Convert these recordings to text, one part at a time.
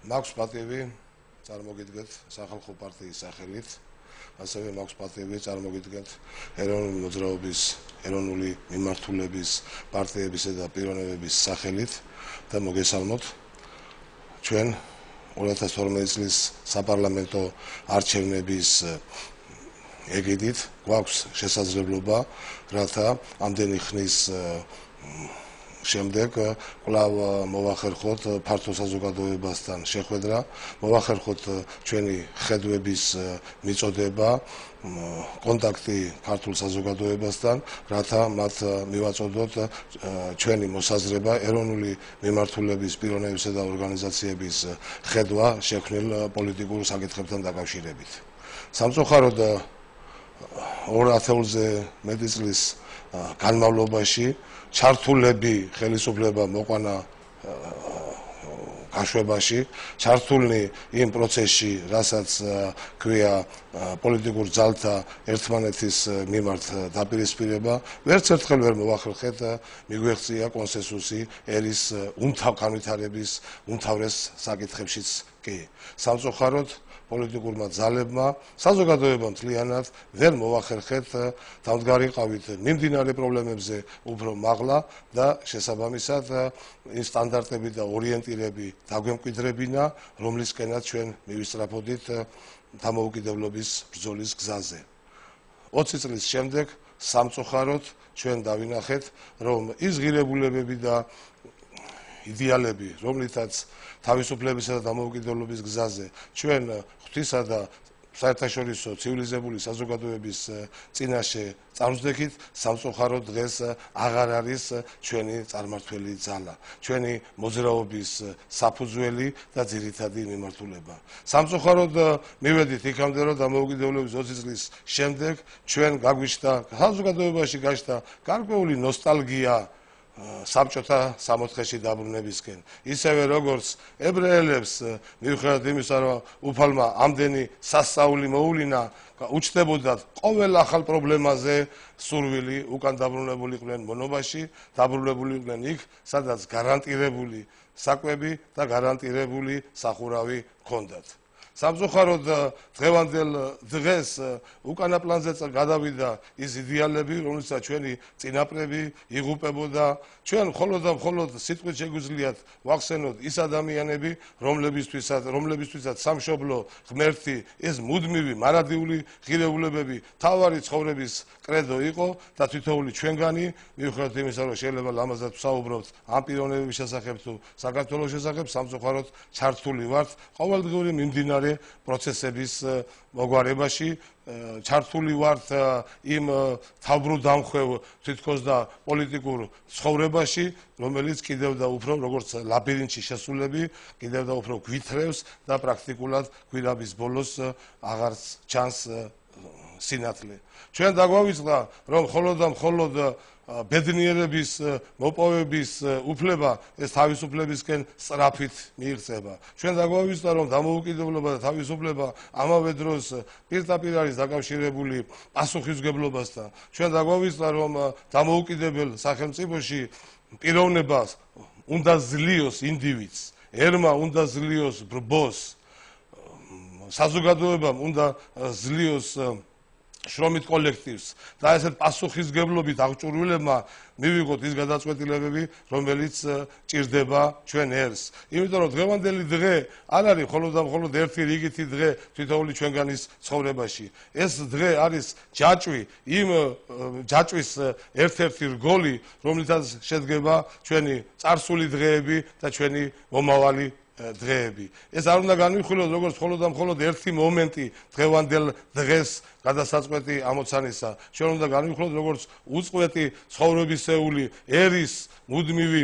მაქვს პატივი წარმოგიდგეთ სახალხო პარტიის სახელით, ასევე მაქვს პატივი წარმოგიდგეთ ეროვნული მოძრაობის, ეროვნული მიმართულების, პარტიებისა და პიროვნებების სახელით და მოგესალმოთ ჩვენ 2012 წლის საპარლამენტო არჩევნების ეგიდით გვაქვს შესაძლებლობა, რათა ამდენი ხნის შემდეგ კვლავ მოვახერხოთ ფართო საზოგადოებასთან შეხვედრა, მოვახერხოთ ჩვენი ხედვების მიწოდება, კონტაქტი ქართულ საზოგადოებასთან, რათა მათ მივაწოდოთ ჩვენი მოსაზრება ეროვნული მიმართულების პიროვნებისა და ორგანიზაციების ხედვა შექმნილ პოლიტიკურ საკითხებთან დაკავშირებით. სამწუხაროდ 2000-ზე მეტი წლის განმავლობაში ჩართულები ხელისუფლება მოყვანა გაშვებაში, ჩართულნი იმ პროცესში, რასაც ქვია პოლიტიკურ ძალთა ერთმანეთის მიმართ დაპირისპირება, ვერც ერთხელ ვერ მოვახერხეთ მიგვეღწია კონსენსუსი ერის განვითარების უმთავრეს საკითხებშიც კი. სამწუხაროდ პოლიტიკურმა ძალებმა, საზოგადოებამ მთლიანად ვერ მოვახერხეთ დამდგარიყავით მიმდინარე პრობლემებზე უფრო მაღლა და შესაბამისად იმ სტანდარტები და ორიენტირები დაგვემკვიდრებინა, რომლისკენაც ჩვენ მივისწრაფოდით დამოუკიდებლობის ბრძოლის გზაზე. 20 წლის შემდეგ სამწუხაროდ ჩვენ დავინახეთ, რომ ის ღირებულებები და იდეალები, რომლითაც თავისუფლებისა და დამოუკიდებლობის გზაზე ჩვენ ღვთისა და საერთაშორისო ცივილიზებული საზოგადოების წინაშე წარვსდექით, სამწუხაროდ დღეს აღარ არის ჩვენი წარმართველი ძალა, ჩვენი მოძრაობის საფუძველი და ძირითადი მიმართულება. სამწუხაროდ მივედით იქამდე, რომ დამოუკიდებლობის 20 წლის შემდეგ ჩვენ გაგვიჩნდა საზოგადოებაში გაჩნდა გარკვეული ნოსტალგია საბჭოთა სამოთხეში დაბრუნებისკენ. ისევე როგორც ებრაელებს მიუხედავად იმისა, რომ უფალმა ამდენი სასწაული მოუვლინა, უჩნდებოდათ ყოველ ახალ პრობლემაზე სურვილი, უკან დაბრუნებულიყვნენ მონობაში, დაბრუნებულიყვნენ იქ, სადაც გარანტირებული საკვები და გარანტირებული სახურავი ჰქონდათ. სამწუხაროდ დღევანდელ დღეს უკანა პლანზე გადავიდა ის იდეალები, რომელსაც ჩვენი წინაპრები იღუპებოდა. ჩვენ მხოლოდ და მხოლოდ სიტყვით შეგვიძლიათ ვახსენოთ ის ადამიანები, რომლებისთვისაც სამშობლო ღმერთი, ეს მუდმივი მარადიული ღირებულებები თავარი ცხოვრების კრედო იყო და თითოეული ჩვენგანი, მიუხედავად იმისა, რომ შეიძლება ლამაზად ვსაუბრობთ ამ პიროვნებების შესახებ თუ საქართველოს შესახებ, სამწუხაროდ ჩართული ვართ ყოველდღიური მიმდინარე პროცესების მოგვარებაში, ჩართული ვართ იმ თავბრუდამხვევ თითქოს და პოლიტიკურ ცხოვრებაში, რომელიც კიდევ და უფრო როგორც ლაბირინთში შესულები, კიდევ და უფრო გვითრევს და პრაქტიკულად გვირაბის ბოლოს აღარც ჩანს სინათლე. ჩვენ დაგვავიწყდა, რომ მხოლოდ და მხოლოდ ბედნიერების მოპოვების უფლება ეს თავისუფლებისკენ სწრაფით მიიღწება. ჩვენ დაგვავიწყდა, რომ დამოუკიდებლობა და თავისუფლება ამავე დროს პირდაპირ არის დაკავშირებული პასუხისმგებლობასთან. ჩვენ დაგვავიწყდა, რომ დამოუკიდებელ სახელმწიფოში პიროვნებას უნდა ზლიოს ინდივიდს, ერმა უნდა ზლიოს ბრბოს, საზოგადოებამ უნდა ზლიოს შრომით კოლექტივს და ესეთ პასუხისმგებლობით აღჭურვილებმა მივიღოთ ის გადაწყვეტილებები, რომელიც ჭირდება ჩვენ ერს. იმიტომ რომ დღევანდელი დღე არ არის მხოლოდ და მხოლოდ ერთი რიგითი დღე თითოეული ჩვენგანის ცხოვრებაში. ეს დღე არის ჯაჭვი, იმ ჯაჭვის ერთ-ერთი რგოლი, რომლითაც შედგება ჩვენი წარსული დღეები და ჩვენი მომავალი დღეები. ეს არ უნდა განვიხილოთ როგორც მხოლოდ და მხოლოდ ერთი მომენტი დღევანდელ დღეს გადასაწყვეტი ამოცანისა. ჩვენ უნდა განვიხილოთ როგორც უწყვეტი ცხოვრებისეული ერის მუდმივი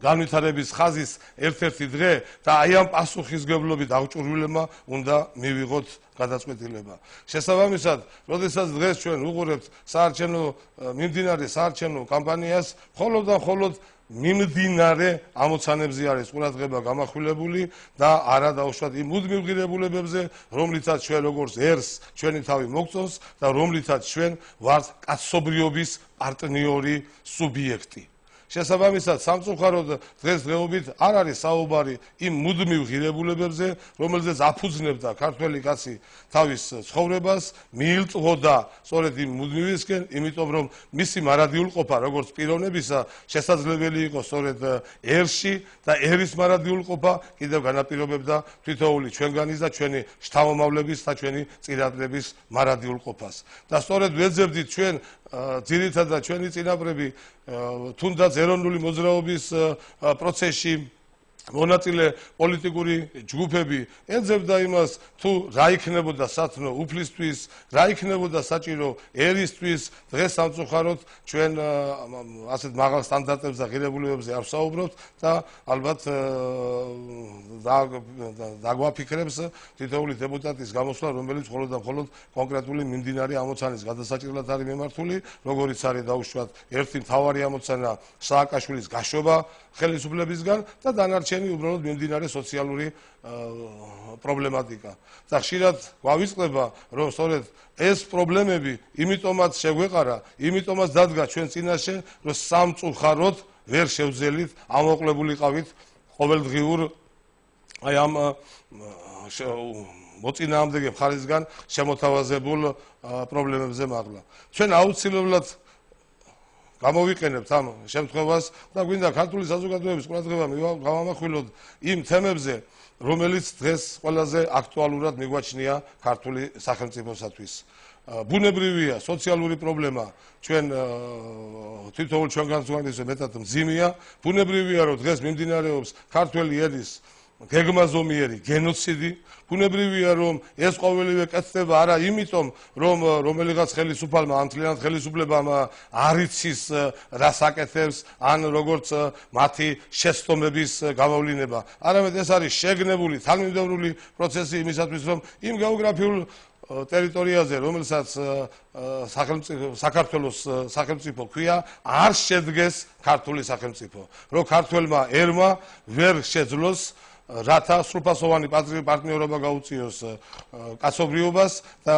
განვითარების ხაზის ერთ-ერთი დღე და აი ამ პასუხისმგებლობით აღჭურვილებმა უნდა მივიღოთ გადაწყვეტილება. შესაბამისად, როდესაც დღეს ჩვენ ვუყურებთ მიმდინარე საარჩევნო კამპანიას, მხოლოდ და მხოლოდ მიმდინარე ამოცანებზე არის ყურადღება გამახვილებული და არა დაუშვათ იმ მუდმივ ღირებულებებზე, რომლითაც ჩვენ როგორც ერს ჩვენი თავი მოგწონს და რომლითაც ჩვენ ვართ კაცობრიობის პარტნიორი სუბიექტი. შესაბამისად სამწუხაროდ დღესდღეობით არ არის საუბარი იმ მუდმივ ღირებულებებზე, რომელზეც აფუძნებდა ქართველი კაცი თავის ცხოვრებას, მიილწვოდა სწორედ იმ მუდმივისკენ, იმიტომ რომ მისი მარადიულყოფა როგორც პიროვნებისა შესაძლებელი იყო სწორედ ერში და ერის მარადიულყოფა კიდევ განაპირობებდა თითოეული ჩვენგანის და ჩვენი შთამომავლების და ჩვენი წინაპრების მარადიულყოფას. და სწორედ ვეძებდით ჩვენ ძირითადად ჩვენი წინაპრები თუნდაც ეროვნული მოძრაობის პროცესში მონაწილე პოლიტიკური ჯგუფები ეძებდა იმას თუ რა იქნებოდა სათნო უფლისთვის, რა იქნებოდა საჭირო ერისთვის, დღეს სამწუხაროდ ჩვენ ასეთ მაღალ სტანდარტებზე და ღირებულებებზე არ ვსაუბრობთ და ალბათ დაგვაფიქრებს თითოეული დეპუტატის გამოსვლა, რომელიც მხოლოდ და მხოლოდ კონკრეტული მიმდინარე ამოცანის გადასაჭრელად არის მიმართული, როგორიც არის დაუშვათ ერთი მთავარი ამოცანა სააკაშვილის გაშობა ხელისუფლებისგან და დანარჩენი უბრალოდ მიმდინარე სოციალური პრობლემატიკა. და ხშირად გვავიწყდება, რომ სწორედ ეს პრობლემები იმიტომაც შეგვეყარა, იმიტომაც დადგა ჩვენ წინაშე, რომ სამწუხაროდ ვერ შევძელით, ამოყლებულიყავით ყოველდღიურ აი ამ მოწინააღმდეგე მხარისგან შემოთავაზებულ პრობლემებზე მაღლა. ჩვენ აუცილებლად გამოვიყენებთ ამ შემთხვევას და გვინდა ქართული საზოგადოების ყურადღება გავამახვილოთ იმ თემებზე, რომელიც დღეს ყველაზე აქტუალურად მიგვაჩნია ქართული სახელმწიფოსათვის. ბუნებრივია სოციალური პრობლემა ჩვენ თითოეულ ჩვენგანს მეტად მძიმეა. ბუნებრივია რომ დღეს მიმდინარეობს ქართველი ერის გეგმაზომიერი გენოციდი. ბუნებრივია რომ ეს ყოველივე კეთდება არა იმიტომ რომ რომელიღაც ხელისუფალმა ან მთლიანად ხელისუფლებამ არ იცის რას აკეთებს ან როგორც მათი შეცდომების გამოვლინება, არამედ ეს არის შეგნებული თანმიმდევრული პროცესი იმისათვის რომ იმ გეოგრაფიულ ტერიტორიაზე რომელსაც საქართველოს სახელმწიფო ქვია არ შედგეს ქართული სახელმწიფო, რომ ქართველმა ერმა ვერ შეძლოს რათა სრულფასოვანი პარტნიორობა გაუწიოს კაცობრიობას და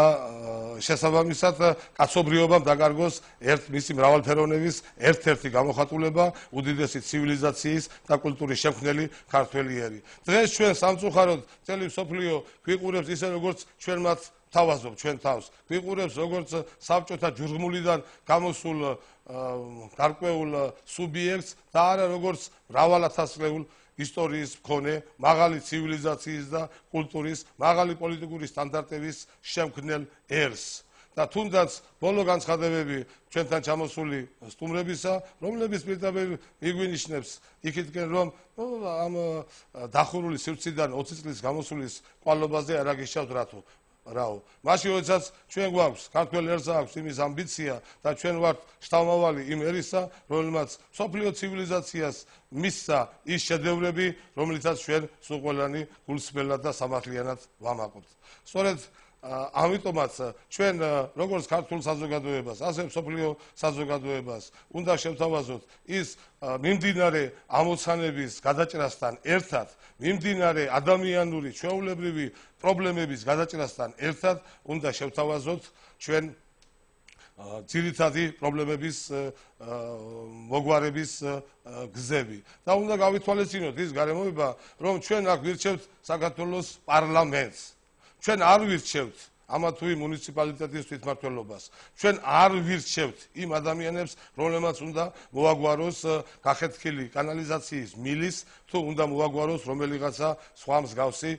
შესაბამისად კაცობრიობამ დაკარგოს მისი მრავალფეროვნების ერთ-ერთი გამოხატულება უდიდესი ცივილიზაციის და კულტურის შემქმნელი ქართველი ერი. დღეს ჩვენ სამწუხაროდ მთელი მსოფლიო გვიყურებს ისე როგორც ჩვენ მათ თავაზობ ჩვენ თავს, გვიყურებს როგორც საბჭოთა ჯუღმულიდან გამოსულ გარკვეულ სუბიექტს და არა როგორც მრავალათასწლეულ ისტორიის მქონე, მაღალი ცივილიზაციის და კულტურის, მაღალი პოლიტიკური სტანდარტების შემქმნელ ერს. და თუნდაც ბოლო განცხადებები ჩვენთან ჩამოსული სტუმრებისა, რომლების პირდაპირ მიგვინიშნებს იქითკენ რომ ამ დახურული სივრციდან 20 წლის გამოსulis კვალობაზე არ აგიშავთ რატო. რაო. მაშინ როდესაც ჩვენ გვაქვს ქართველ ერს აქვს იმის ამბიცია და ჩვენ ვართ შთამავალი იმ ერისა, რომელმაც სოფლიო ცივილიზაციას მისცა ის შედევრები, რომლითაც ჩვენ სულ ყველანი გულსმელად და სამართლიანად ვამაყობთ. სწორედ ამიტომაც ჩვენ როგორც ქართულ საზოგადოებას, ასევე სოფლიო საზოგადოებას უნდა შევთავაზოთ ის მიმდინარე ამოცანების გადაჭრასთან ერთად, მიმდინარე ადამიანური ჩვეულებრივი პრობლემების გადაჭრასთან ერთად უნდა შევთავაზოთ ჩვენ ძირითადი პრობლემების მოგვარების გზები. და უნდა გავითვალისწინოთ ის გარემოება, რომ ჩვენ აქ ვირჩევთ საქართველოს პარლამენტს. ჩვენ არ ვირჩევთ ამა თუ იმ მუნიციპალიტეტის თვითმმართველობას. ჩვენ არ ვირჩევთ იმ ადამიანებს, რომლებმაც უნდა მოაგვაროს გახეთქილი კანალიზაციის მილის, თუ უნდა მოაგვაროს რომელიღაცა სხვა მსგავსი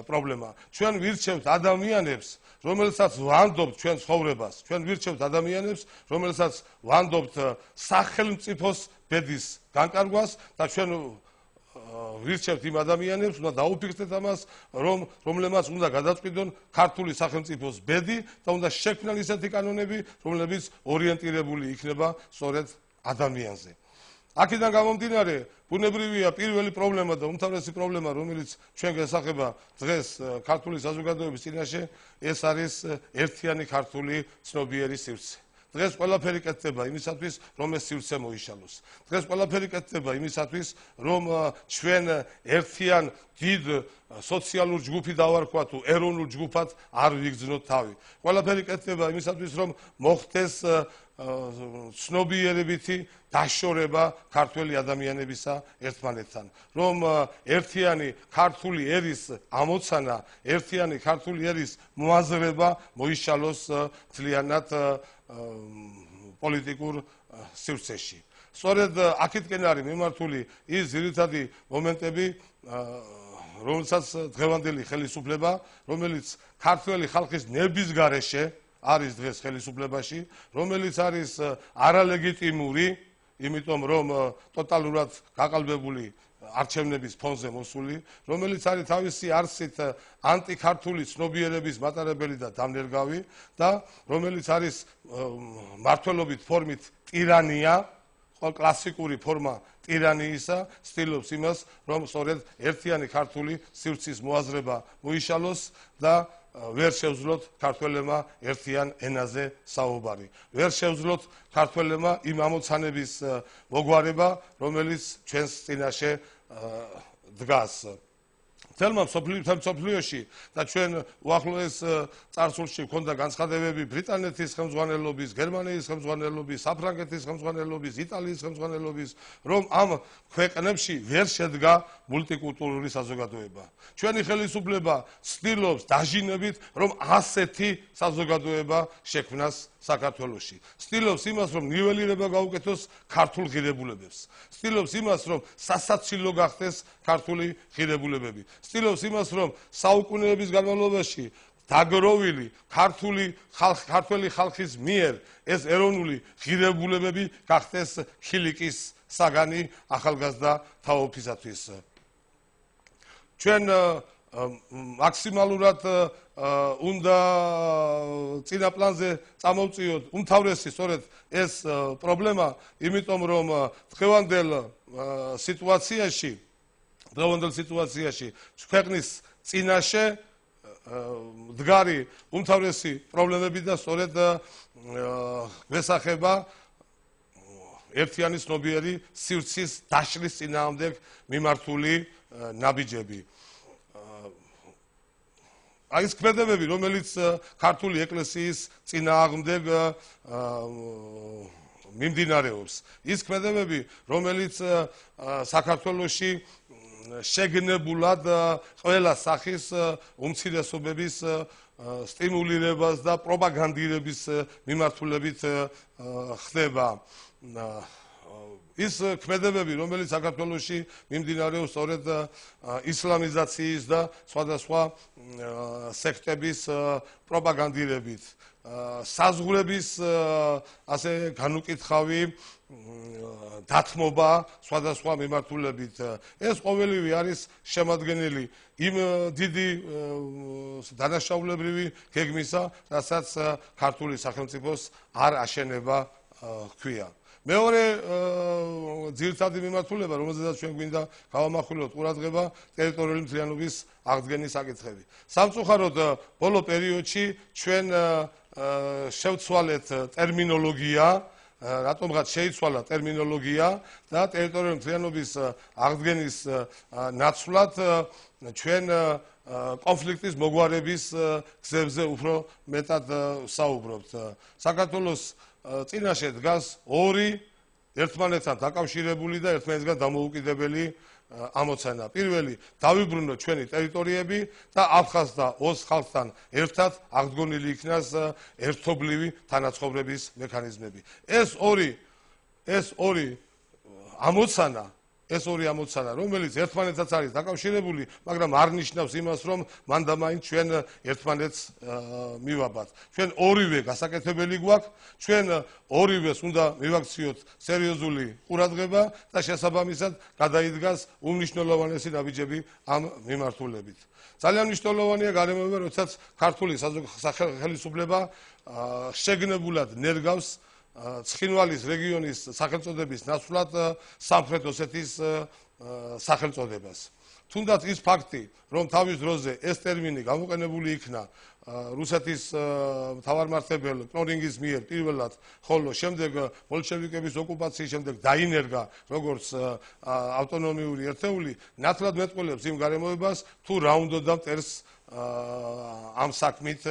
პრობლემა. ჩვენ ვირჩევთ ადამიანებს, რომელსაც ვანდობთ ჩვენ ცხოვრებას. ჩვენ ვირჩევთ ადამიანებს, რომელსაც ვანდობთ სახელმწიფოს ბედის განკარგვას და ჩვენ ვირჩევთ იმ ადამიანებს, უნდა დაუფიქრდეთ ამას, რომლებმაც უნდა გადაწყვიტონ ქართული სახელმწიფოს ბედი და უნდა შექმნან ისეთი კანონები, რომლებიც ორიენტირებული იქნება სწორედ ადამიანზე. აქედან გამომდინარე, ბუნებრივია პირველი პრობლემა და უმთავრესი პრობლემა, რომელიც ჩვენ გესახება დღეს ქართული საზოგადოების წინაშე, ეს არის ერთიანი ქართული ცნობიერი სივრცე. დღეს ყველაფერი კეთდება იმისათვის, რომ ეს სივრცე მოიშალოს. დღეს ყველაფერი კეთდება იმისათვის, რომ ჩვენ ერთიან დიდ სოციალურ ჯგუფი დავარქვა თუ ეროვნულ ჯგუფად არ ვიგრძნოთ თავი. ყველაფერი კეთდება იმისათვის, რომ მოხდეს ცნობიერებითი დაშორება ქართველი ადამიანებისა ერთმანეთთან, რომ ერთიანი ქართული ერის ამოცანა, ერთიანი ქართული ერის მოაზრება მოიშალოს ძალიანად პოლიტიკურ სივრცეში. სწორედ აქეთკენ არის მიმართული ის ძირითადი მომენტები, რომელსაც დღევანდელი ხელისუფლება, რომელიც ქართველი ხალხის ნერვის გარეშე არის დღეს ხელისუფლებაში, რომელიც არის არალეგიტიმური, იმიტომ რომ ტოტალურად გაყალბებული არჩევნების ფონზე მოსული, რომელიც არის თავისი არსით ანტიქართული ცნობიერების მატარებელი და დამნერგავი და რომელიც არის მმართველობით ფორმით ტირანია, კლასიკური ფორმა ტირანიისა, ცდილობს იმას, რომ სწორედ ერთიანი ქართული სივრცის მოაზრება მოიშალოს და ვერ შევძლოთ ქართველებმა ერთიან ენაზე საუბარი. ვერ შევძლოთ ქართველებმა იმ ამოცანების მოგვარება, რომელიც ჩვენს წინაშე დგას. თელმა მსოფლიოში და ჩვენ უახლოეს წარსულში გვქონდა განცხადებები ბრიტანეთის ხელმძღვანელობის, გერმანიის ხელმძღვანელობის, საფრანგეთის ხელმძღვანელობის, იტალიის ხელმძღვანელობის, რომ ამ ქვეყნებში ვერ შედგა მულტიკულტურული საზოგადოება. ჩვენი ხელისუფლება ცდილობს დაჟინებით, რომ ასეთი საზოგადოება შექმნას საქართველოში. ცდილობს იმას, რომ ნიველირება გაუკეთოს ქართულ ღირებულებებს. ცდილობს იმას, რომ სასაცილო გახდეს ქართული ღირებულებები. ცდილობს იმას, რომ საუკუნეების განმავლობაში დაგროვილი ქართველი ხალხის მიერ ეს ეროვნული ღირებულებები გახდეს ხილიკის საგანი ახალგაზრდა თაობისათვის. ჩვენ მაქსიმალურად უნდა წინა პლანზე წამოვწიოთ უმთავრესი სწორედ ეს პრობლემა, იმიტომ რომ დღევანდელ სიტუაციაში ქვეყნის წინაშე მდგარი უმთავრესი პრობლემები და სწორედ გვესახება ერთიანი ცნობიერი სივრცის დაშლის წინააღმდეგ მიმართული ნაბიჯები. აი ეს ქმედებები, რომელიც ქართული ეკლესიის წინააღმდეგ მიმდინარეობს, ის ქმედებები, რომელიც საქართველოში შეგნებულად ყველა სახის უმცირესობების სტიმულირებას და პროპაგანდირების მიმართულებით ხდება. ის ქმედებები, რომელიც საქართველოში მიმდინარეობს სწორედ ისლამიზაციის და სხვადასხვა სექტების პროპაგანდირებით, საზღვრების ასე განუკითხავი დათმობა სხვადასხვა მიმართულებით. ეს ყოველივე არის შემადგენელი იმ დიდი დანაშაულებრივი გეგმისა, რასაც ქართული სახელმწიფოს არ აშენება ჰქვია. მეორე ძირითადი მიმართულება, რომელზედაც ჩვენ გვინდა გავამახვილოთ ყურადღება, ტერიტორიული მთლიანობის აღდგენის საკითხები. სამწუხაროდ ბოლო პერიოდში ჩვენ შევცვალეთ ტერმინოლოგია, რატომღაც შეიცვალა ტერმინოლოგია და ტერიტორიული მთლიანობის აღდგენის ნაცვლად ჩვენ კონფლიქტის მოგვარების გზებზე უფრო მეტად საუბრობთ. საქართველოს წინაშე დგას ორი ერთმანეთთან დაკავშირებული და ერთმანეთისგან დამოუკიდებელი ამოცანა. პირველი, დავიბრუნოთ ჩვენი ტერიტორიები და აფხაზ და ოს ხალხთან ერთად აღდგენილი იქნას ერთობლივი თანაცხოვრების მექანიზმები. ეს ორი ამოცანა, რომელიც ერთმანეთსაც არის დაკავშირებული, მაგრამ არ ნიშნავს იმას, რომ მან და მაინც ჩვენ ერთმანეთს მივაბართ. ჩვენ ორივე გასაკეთებელი გვაქვს, ჩვენ ორივეს უნდა მივაქციოთ სერიოზული ყურადღება და შესაბამისად გადაიდგას უმნიშვნელოვანესი ნაბიჯები ამ მიმართულებით. ძალიან მნიშვნელოვანია გარემოება, როდესაც ქართული სახელმწიფო შეგნებულად ნერგავს ცხინვალის რეგიონის სახელწოდების ნაცვლად სამხრეთ ოსეთის სახელწოდებას. თუნდაც ის ფაქტი, რომ თავის დროზე ეს ტერმინი გამოყენებული იქნა რუსეთის მთავარმართებელ კნორინგის მიერ პირველად, ხოლო შემდეგ ბოლშევიკების ოკუპაციის შემდეგ დაინერგა როგორც ავტონომიური ერთეული, ნათლად მეტყველებს იმ გარემოებას, თუ რა უნდოდა მტერს ამ საქმით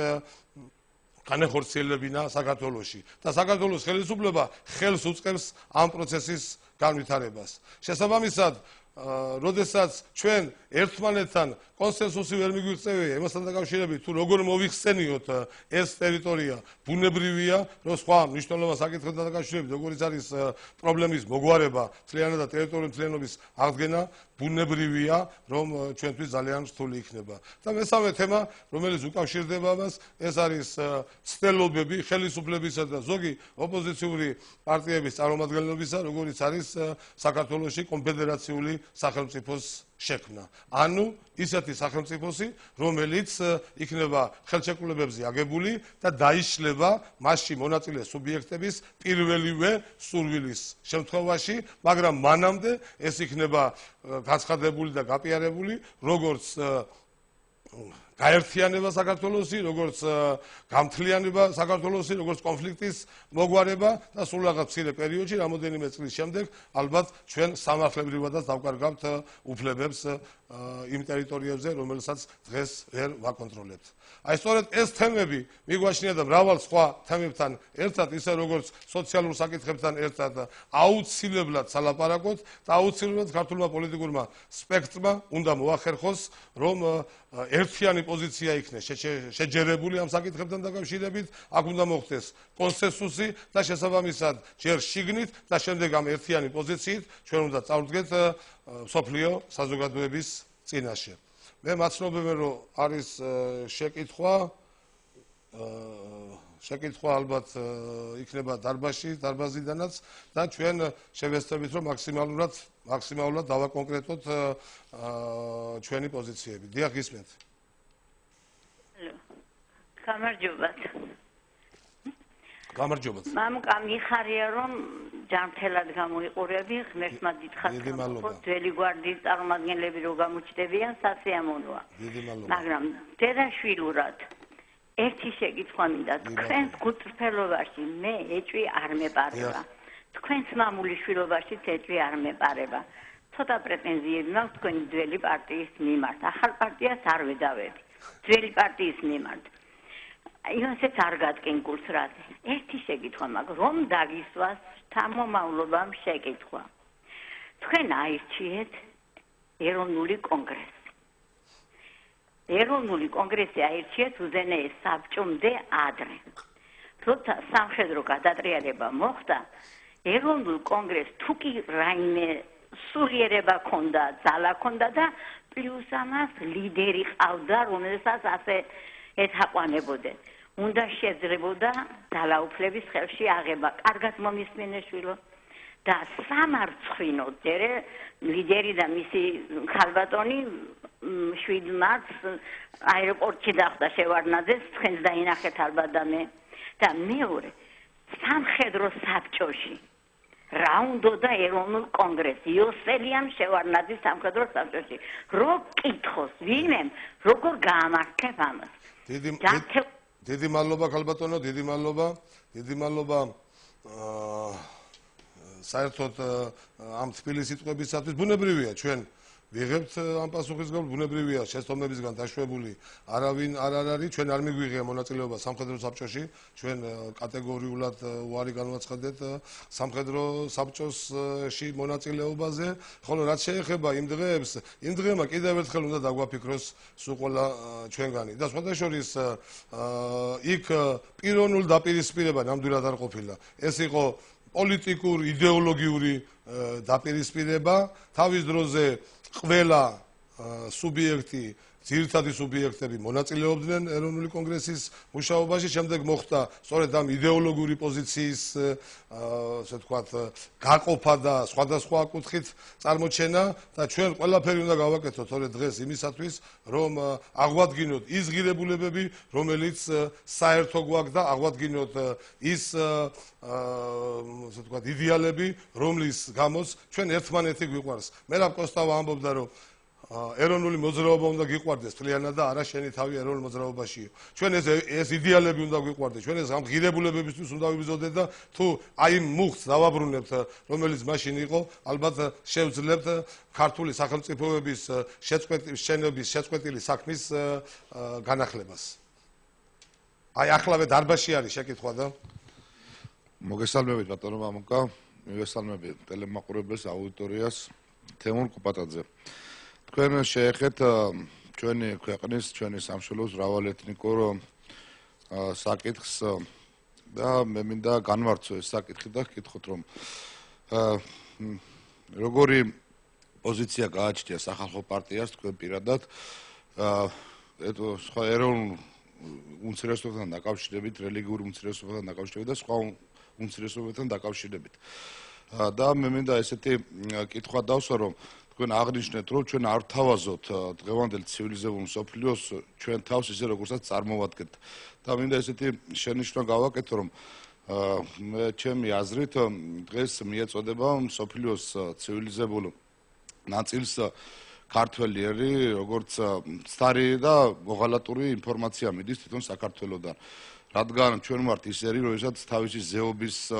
განეხორციელებინა საქართველოში და საქართველოს ხელისუფლება ხელს უწყებს ამ პროცესის განვითარებას. შესაბამისად, როდესაც ჩვენ ერთმანეთთან კონსენსუსი ვერ მიგვიღწევია იმასთან დაკავშირებით, თუ როგორ მოвихსენიოთ ეს ტერიტორია ბუნებრივია, რომ სხვა მნიშვნელოვან საკითხებთან დაკავშირებით, როგორიც არის პრობლემის მოგვარება, მთლიანად და ტერიტორიული მთლიანობის აღდგენა, ბუნებრივია, რომ ჩვენთვის ძალიან რთული იქნება. და მესამე თემა, რომელიც უკავშირდება მას, ეს არის ცდელობები ხელისუფლებისა და ზოგი ოპოზიციური პარტიების წარმომადგენლებისა, როგორიც არის საქართველოში კონფედერაციული სახელმწიფოს შექმნა. ანუ ისეთი სახელმწიფოსი, რომელიც იქნება ხელშეკრულებებზე აგებული და დაიშლება მასში მონაწილე სუბიექტების პირველივე სურვილის შემთხვევაში, მაგრამ მანამდე ეს იქნება გაცხადებული და გაპიარებული, როგორც გაერთიანება საქართველოსი, როგორც გამთლიანება საქართველოსი, როგორც კონფლიქტის მოგვარება და სულ რაღაც მცირე პერიოდში, რამოდენიმე წლის შემდეგ, ალბათ ჩვენ სამართლებრივადაც დავკარგავთ უფლებებს იმ ტერიტორიებზე, რომელსაც დღეს ვერ ვაკონტროლებთ. აი სწორედ ეს თემები მიგვაჩნია და მრავალ სხვა თემებთან ერთად, ისე როგორც სოციალურ საკითხებთან ერთად აუცილებლად სალაპარაკოთ და აუცილებლად ქართულმა პოლიტიკურმა სპექტრმა უნდა მოახერხოს, რომ ერთიანი პოზიცია იქნეს შეჯერებული ამ საკითხებთან დაკავშირებით, აქ უნდა მოხდეს კონსენსუსი და შესაბამისად ჯერ შიგნით და შემდეგ ამ ერთიანი პოზიციით ჩვენ უნდა წავდგეთ მსოფლიო საზოგადოების წინაშე. მე მაცნობები რომ არის შეკითხვა ალბათ იქნება დარბაზიდანაც და ჩვენ შევეცდებით რომ მაქსიმალურად დავაკონკრეტოთ ჩვენი პოზიციები. დიახ, გისმენთ. გამარჯობათ. მამუკა მიხარია რომ ჯანმრთელად გამოიყურები, ღმერთმა დიდხანს გმოხოთ, ძველი გვარდიის წარმომადგენლები რო გამოჩნდებიან, სასიამოვნოა. მაგრამ დედაშვილურად ერთი შეკითხვა მინდა, თქვენს გულწრფელობაში მე ეჭვი არ მეპარება. თქვენს მამულიშვილობაშიც ეჭვი არ მეპარება. ცოტა პრეტენზიები მაქვს თქვენი ძველი პარტიის მიმართ. ახალ პარტიას არ ვედავები. ძველი პარტიის მიმართ. იოსეც არ გადგენ გულს რაზე. ერთი შეკითხვა მაქვს, რომ დაგისვას შთამომავლობამ შეკითხვა. თქვენ აირჩიეთ ეროვნული კონგრესი. ეროვნული კონგრესი აირჩიეთ უზენაეს საბჭომდე ადრე. როცა სამხედრო გადატრიალება მოხდა, ეროვნულ კონგრესს თუ კი რაიმე სულიერება ქონდა, ძალა ქონდა და პლუს ამას ლიდერი ყავდა, რომელსაც ასე ეთაყვანებოდნენ. უნდა შეძლებოდა ძალაუფლების ხელში აღება. კარგად მომისმენეშვილო და სამარცხვინოდ ჯერე ლიდერი და მისი ქალბატონი 7 მარტს აეროპორტში დახვდა შევარდნაძეს, თქვენს დაინახეთ ალბათ და მე. და მეორე, სამხედრო საბჭოში რა უნდოდა ეროვნულ კონგრესი, იოსელიამ შევარდნაძის სამხედრო საბჭოში. რო კითხოს ვინმემ, როგორ გაამართლებ ამას. დიდი მადლობა ქალბატონო, დიდი მადლობა საერთოდ ამ თბილი სიტყვებისათვის. ბუნებრივია ჩვენ ვიღებთ ამ პასუხისგან, ბუნებრივია შეცდომებისგან დაშვებული არავინ არ არის, ჩვენ არ მიგვიღია მონაწილეობა სამხედრო საბჭოში, ჩვენ კატეგორიულად უარი განვაცხადეთ სამხედრო საბჭოში მონაწილეობაზე, ხოლო რაც შეეხება იმ დღეებს, იმ დღემა კიდევ ერთხელ უნდა დაგვაფიქროს სულ ყველა ჩვენგანი და სხვადასხვა იქ პიროვნულ დაპირისპირება ნამდვილად არ ყოფილა. ეს იყო პოლიტიკურ იდეოლოგიური დაპირისპირება, თავის დროზე ყველა სუბიექტი, ძირითადი სუბიექტები მონაწილეობდნენ ეროვნული კონგრესის მუშაობაში, შემდეგ მოხდა სწორედ ამ იდეოლოგიური პოზიციის ასე ვთქვათ გაყოფა და სხვადასხვა კუთხით წარმოჩენა და ჩვენ ყველაფერი უნდა გავაკეთოთ სწორედ დღეს იმისათვის, რომ აღვადგინოთ ის ღირებულებები, რომელიც საერთო გვაქვს და აღვადგინოთ ის ასე ვთქვათ იდეალები, რომლის გამოც ჩვენ ერთმანეთი გვიყვარს. მე რა კოსტავა ამბობდა, რომ ეროვნული მოძრაობა უნდა გიყვარდეს მთლიანად და არა შენი თავი ეროვნულ მოძრაობაშიო. ჩვენ ეს იდეალები უნდა გიყვარდეს, ჩვენ ეს ამ ღირებულებებისთვის უნდა ვიბრძოდეთ და თუ აი მუხტს დავაბრუნებთ, რომელიც მაშინ იყო, ალბათ შევძლებთ ქართული სახელმწიფოების შეწყვეტილი საქმის განახლებას. აი ახლავე დარბაზში არის შეკითხვა და მოგესალმებით ბატონო მამუკა, მივესალმებით ტელემაყურებელს, აუდიტორიას, თემურ კუპატაძე. თქვენ შეეხეთ ჩვენი ქვეყნის, ჩვენი სამშობლოს მრავალეთნიკურ საკითხს და მე მინდა განვარცხო ეს საკითხი და გკითხოთ რომ როგორი პოზიცია გააჩნია სახალხო პარტიას თქვენ პირადად სხვა ეროვნულ უმცირესობებთან დაკავშირებით, რელიგიური უმცირესობებთან დაკავშირებით და სხვა უმცირესობებთან დაკავშირებით. და მე მინდა ესეთი კითხვა დავსვა რომ თქვენ აღნიშნეთ რომ ჩვენ არ ვთავაზობთ დღევანდელ ცივილიზებულ მსოფლიოს ჩვენ თავს ისე როგორცაც წარმოვადგენთ და მინდა ესეთი შენიშვნა გავაკეთო რომ მე ჩემი აზრით დღეს მიეწოდება მსოფლიოს ცივილიზებულ ნაწილს ქართველი ერი როგორც სტარი და მოღალატური ინფორმაცია მიდის თვითონ საქართველოსდან რადგან ჩვენ ვართ ის ერი როდესაც თავისი ზეობის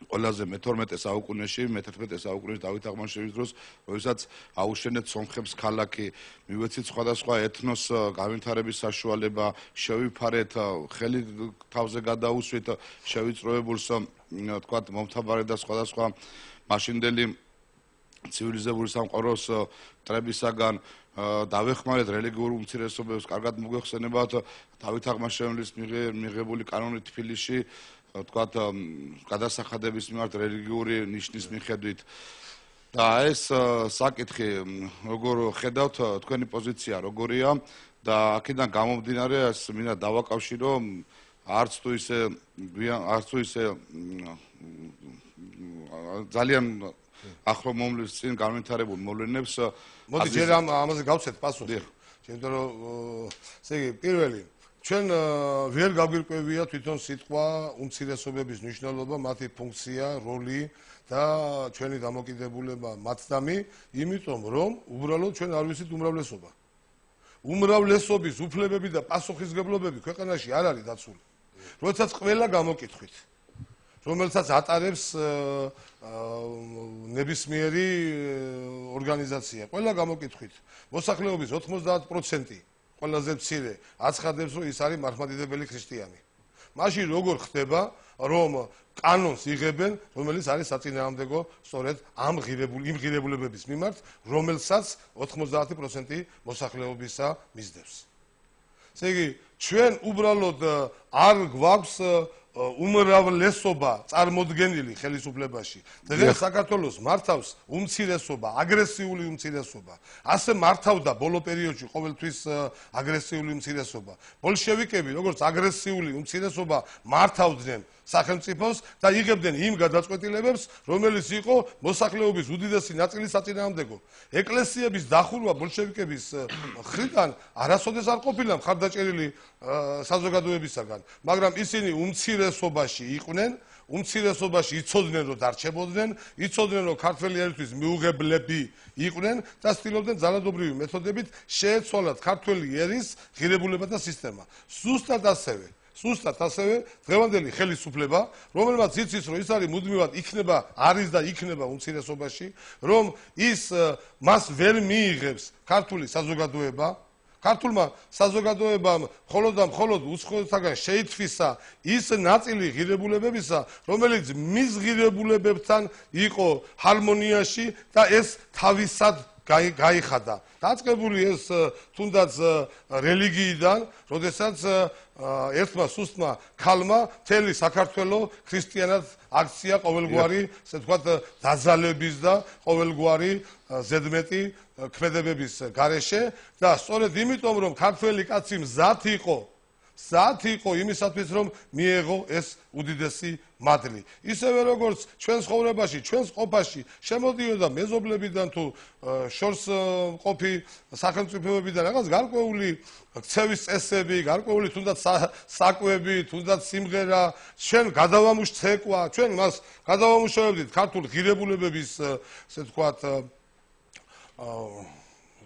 ყველაზე მე-12 საუკუნეში, მე-11 საუკუნეში დავით აღმაშენის დროს, როდესაც აუშენეთ სომხებს ქალაქი, მივეცით სხვადასხვა ეთნოს განვითარების საშუალება, შევიფარეთ, ხელი თავზე გადაუსვით შევიწროებულს, თქვათ, მომთაბარე და სხვადასხვა მაშინდელი ცივილიზებული სამყაროს მტრებისაგან დავეხმარეთ რელიგიურ უმცირესობებს, კარგად მოგეხსენებათ დავით აღმაშენის მიღებული კანონი თბილისში თქვათ გადასახადების მიმართ რელიგიური ნიშნის მიხედვით და ეს საკითხი როგორ ხედავთ თქვენი პოზიცია როგორია და აქედან გამომდინარე ეს მინდა დავაკავშირო არც თუ ისე ძალიან ახლო მომლის წინ განვითარებულ მოვლენებს მოდი ჯერ ამაზე გავცეთ პასუხი იმიტომ რომ ესე იგი პირველი ჩვენ ვერ გაგვირკვევია თვითონ სიტყვა უმცირესობების მნიშვნელობა, მათი ფუნქცია, როლი და ჩვენი დამოკიდებულება მათდამი, იმიტომ რომ უბრალოდ ჩვენ არ ვიცით უმრავლესობა. უმრავლესობის უფლებები და პასუხისმგებლობები ქვეყანაში არ არის დაცული. როდესაც ყველა გამოკითხვით, რომელსაც ატარებს ნებისმიერი ორგანიზაცია, ყველა გამოკითხვით, მოსახლეობის 90% ყველაზე მცირე აცხადებს რომ ის არის მართლმადიდებელი ქრისტიანი. მაშინ როგორ ხდება რომ კანონს იღებენ რომელიც არის საწინააღმდეგო სწორედ ამ ღირებულებების მიმართ რომელსაც 90% მოსახლეობისა მისდევს. ესე იგი ჩვენ უბრალოდ არ გვაქვს უმრავლესობა წარმოდგენილი ხელისუფლებაში. დღეს საქართველოს მართავს უმცირესობა, აგრესიული უმცირესობა. ასე მართავდა ბოლო პერიოდში ყოველთვის აგრესიული უმცირესობა. ბოლშევიკები, როგორც აგრესიული უმცირესობა, მართავდნენ სახელმწიფოს და იღებდნენ იმ გადაწყვეტილებებს, რომელიც იყო მოსახლეობის უდიდესი ნაწილის საწინააღმდეგო. ეკლესიების დახურვა ბოლშევიკების მხრიდან არასოდეს არ ყოფილა მხარდაჭერილი საზოგადოებისაგან, მაგრამ ისინი უმცირესობაში იყვნენ, უმცირესობაში იცოდნენ რომ დარჩებოდნენ, იცოდნენ რომ ქართველი ერისთვის მიუღებლები იყვნენ და ცდილობდნენ ძალადობრივი მეთოდებით შეეცვალათ ქართველი ერის ღირებულება და სისტემა. Სუსტად ასევე დღევანდელი ხელისუფლება, რომელმაც იცის რომ ის არის მუდმივად არის და იქნება უმცირესობაში, რომ ის მას ვერ მიიღებს ქართული საზოგადოება, ქართულმა საზოგადოებამ მხოლოდ და მხოლოდ უცხოეთაგან შეითვისა ის ნაწილი ღირებულებებისა, რომელიც მის ღირებულებებთან იყო ჰარმონიაში და ეს თავისად გაიხადა. დაწყებული ეს თუნდაც რელიგიიდან, როდესაც ერთმა სუსტმა ქალმა მთელი საქართველო ქრისტიანად აქცია ყოველგვარი, ესე ვთქვათ, დაზალების და ყოველგვარი ზედმეტი ქმედებების გარეშე და სწორედ იმიტომ რომ ქართველი კაცი მზად იყო იმისათვის რომ მიეღო ეს უდიდესი მადლი. ისევე როგორც ჩვენს ხოვრებაში, ჩვენს ყოფაში შემოდიოდა მეზობლებიდან თუ შორს ყოფი სახელმწიფოებიდან რაღაც გარკვეული ქცევის წესები, გარკვეული თუნდაც საკვები, თუნდაც სიმღერა, ჩვენ გადავამუშ ცეკვა, ჩვენ მას გადავამუშავებდით ქართულ ღირებულებების, ესე ვთქვათ,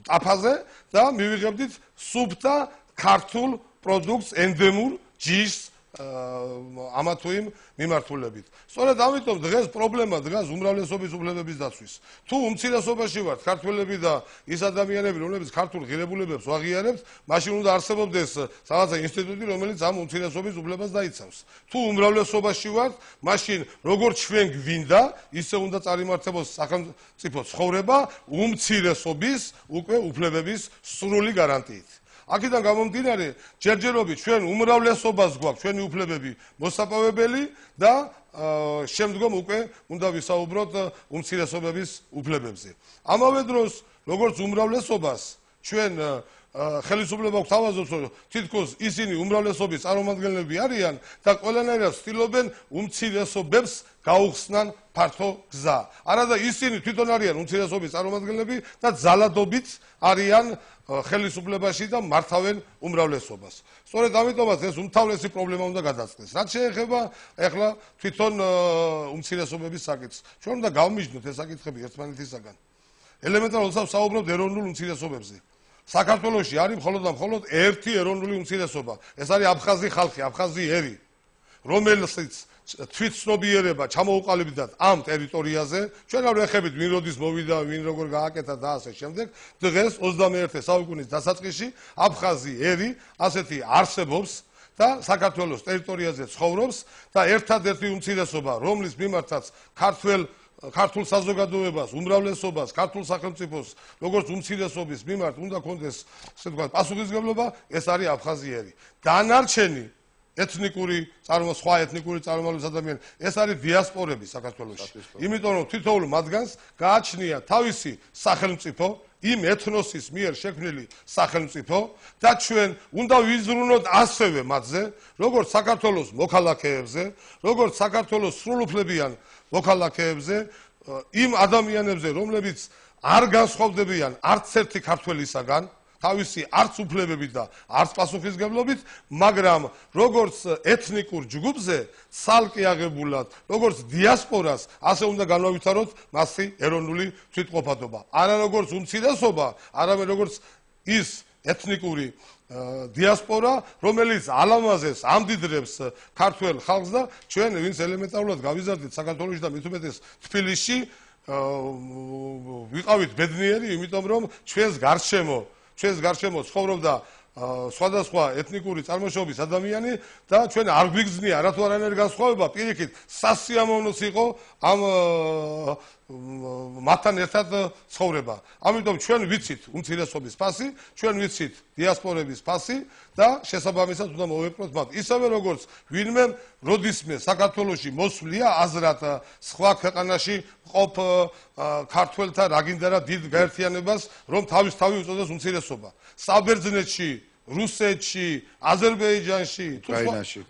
ტაფაზე და მივიღებდით სუფთა ქართულ პროდუქტს ენდემურ ჯიშს ამა თუ იმ მიმართულებით. სწორედ ამიტომ დღეს პრობლემა დგას უმრავლესობის უფლებების დაცვის. თუ უმცირესობაში ვართ ქართველები და ის ადამიანები, რომლებიც ქართულ ღირებულებებს ვაღიარებთ, მაშინ უნდა არსებობდეს რაღაცა ინსტიტუტი, რომელიც ამ უმცირესობის უფლებას დაიცავს. თუ უმრავლესობაში ვართ, მაშინ როგორც ჩვენ გვინდა, ისე უნდა წარიმართებოს სახელმწიფო ცხოვრება უმცირესობის უკვე უფლებების სრული გარანტიით. აქედან გამომდინარე, ჯერჯერობით ჩვენ უმრავლესობას გვაქვს ჩვენი უფლებები მოსაპოვებელი და შემდგომ უკვე უნდა ვისაუბროთ უმცირესობების უფლებებზე. ამავე დროს, როგორც უმრავლესობას ჩვენ ხელისუფლება გვაქვს თავაზობს, რომ თითქოს ისინი უმრავლესობის წარმომადგენლები არიან და ყველანაირად ცდილობენ უმცირესობებს გაუხსნან ფართო გზა. არადა ისინი თვითონ არიან უმცირესობის წარმომადგენლები და ძალადობით არიან ხელისუფლებაში და მართავენ უმრავლესობას. სწორედ ამიტომაც ეს უმთავრესი პრობლემა უნდა გადაწყდეს. რაც შეეხება ახლა თვითონ უმცირესობების საკითხს. ჩვენ უნდა გავმიჯნოთ ეს საკითხები ერთმანეთისაგან. ელემენტარულად საუბრობთ ეროვნულ უმცირესობებზე. საქართველოში არის მხოლოდ და მხოლოდ ერთი ეროვნული უმცირესობა. ეს არის აფხაზი ხალხი, აფხაზი ერი, რომელსაც თვითცნობიერება ჩამოუყალიბდათ ამ ტერიტორიაზე. ჩვენ არ ვეხებით ვინ როდის მოვიდა, ვინ როგორ გააკეთა და ასე შემდეგ. დღეს 21 საუკუნის დასაწყისში აფხაზი ერი ასეთი არსებობს და საქართველოს ტერიტორიაზე ცხოვრობს და ერთადერთი უმცირესობა, რომლის მიმართაც ქართულ საზოგადოებას, უმრავლესობას, ქართულ სახელმწიფოს, როგორც უმცირესობის მიმართ უნდა კონდეს, ასე ვთქვათ, პასუხისმგებლობა, ეს არის აფხაზიერი. დანარჩენი სხვა ეთნიკური წარმომავლობის ადამიანები, ეს არის დიასპორები საქართველოში. იმიტომ რომ თითოეულ მათგანს გააჩნია თავისი სახელმწიფო, იმ ეთნოსის მიერ შექმნილი სახელმწიფო და ჩვენ უნდა ვიზრუნოთ ასევე მათზე, როგორც საქართველოს მოქალაქეებზე, როგორც საქართველოს სრულუფლებიან მოქალაქეებზე, იმ ადამიანებზე, რომლებიც არ განსხვავდებიან არც ერთი ქართველისაგან, თავისი არც უფლებებით და არც პასუხისმგებლობით, მაგრამ როგორც ეთნიკურ ჯგუფზე ცალკე აღებულად, როგორც დიასპორას, ასე უნდა განავითაროთ მასი ეროვნული თვითმყოფადობა. არა როგორც უმცირესობა, არამედ როგორც ის ეთნიკური დიასპორა, რომელიც ალამაზეს ამდიდრებს ქართველ ხალხს და ჩვენ ვინც ელემენტარულად გავიზარდით საქართველოში და მით უმეტეს თბილისში ვიყავით ბედნიერი, იმიტომ რომ ჩვენს გარშემო ცხოვრობდა სხვადასხვა ეთნიკური წარმოშობის ადამიანი და ჩვენ არ გვიგზნია რა თუ არანაირი განსხვავება, პირიქით სასიამოვნოც იყო ამ მათთან ერთად ცხოვრება. ამიტომ ჩვენ ვიცით უმცირესობის ფასი, ჩვენ ვიცით დიასპორების ფასი და შესაბამისად უნდა მოვეპყროთ მათ. ისევე როგორც ვინმე როდისმე საქართველოში მოსვლია აზრად სხვა ქვეყანაში მყოფ ქართველთა რა გინდა რა დიდ გაერთიანებას, რომ თავი უწოდეს უმცირესობა. საბერძნეთში, რუსეთში, აზერბაიჯანში,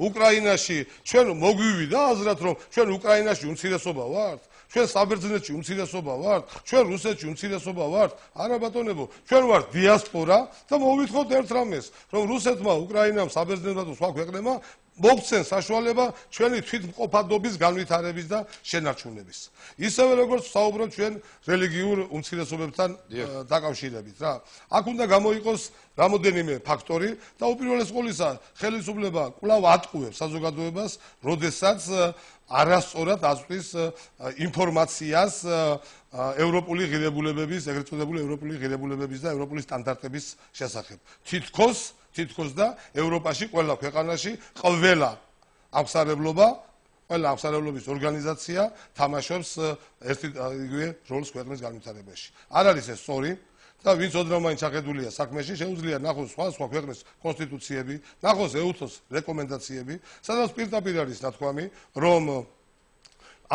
უკრაინაში ჩვენ მოგვივიდა აზრად, რომ ჩვენ უკრაინაში უმცირესობა ვართ. ჩვენ საბერძნეთში უმცირესობა ვართ, ჩვენ რუსეთში უმცირესობა ვართ. არა ბატონებო, ჩვენ ვართ დიასპორა და მოვითხოვთ ერთ რამეს, რომ რუსეთმა, უკრაინამ, საბერძნეთმა და სხვა ქვეყნებმა მოგცენ საშუალება ჩვენი თვითმყოფადობის განვითარების და შენარჩუნების. ისევე როგორც საუბრობთ ჩვენ რელიგიურ უმცირესობებთან დაკავშირებით რა. აქ უნდა გამოიყოს რამოდენიმე ფაქტორი და უპირველეს ყოვლისა ხელისუფლება კვლავ ატყუებს საზოგადოებას, როდესაც არასწორად აწვდის ინფორმაციას ევროპული ღირებულებების, ეგრეთ წოდებული ევროპული ღირებულებების და ევროპული სტანდარტების შესახებ. თითქოს და ევროპაში ყველა ქვეყანაში ყველა აღსარებლობის ორგანიზაცია თამაშობს ერთი იგივე როლს ქვეყნის განვითარებაში. არ არის ეს სწორი და ვინც ოდნავ მაინც ახედულია საქმეში, შეუძლია ნახოს სხვა ქვეყნის კონსტიტუციები, ნახოს EUTHO-ს რეკომენდაციები, სადაც პირდაპირ არის ნათქვამი, რომ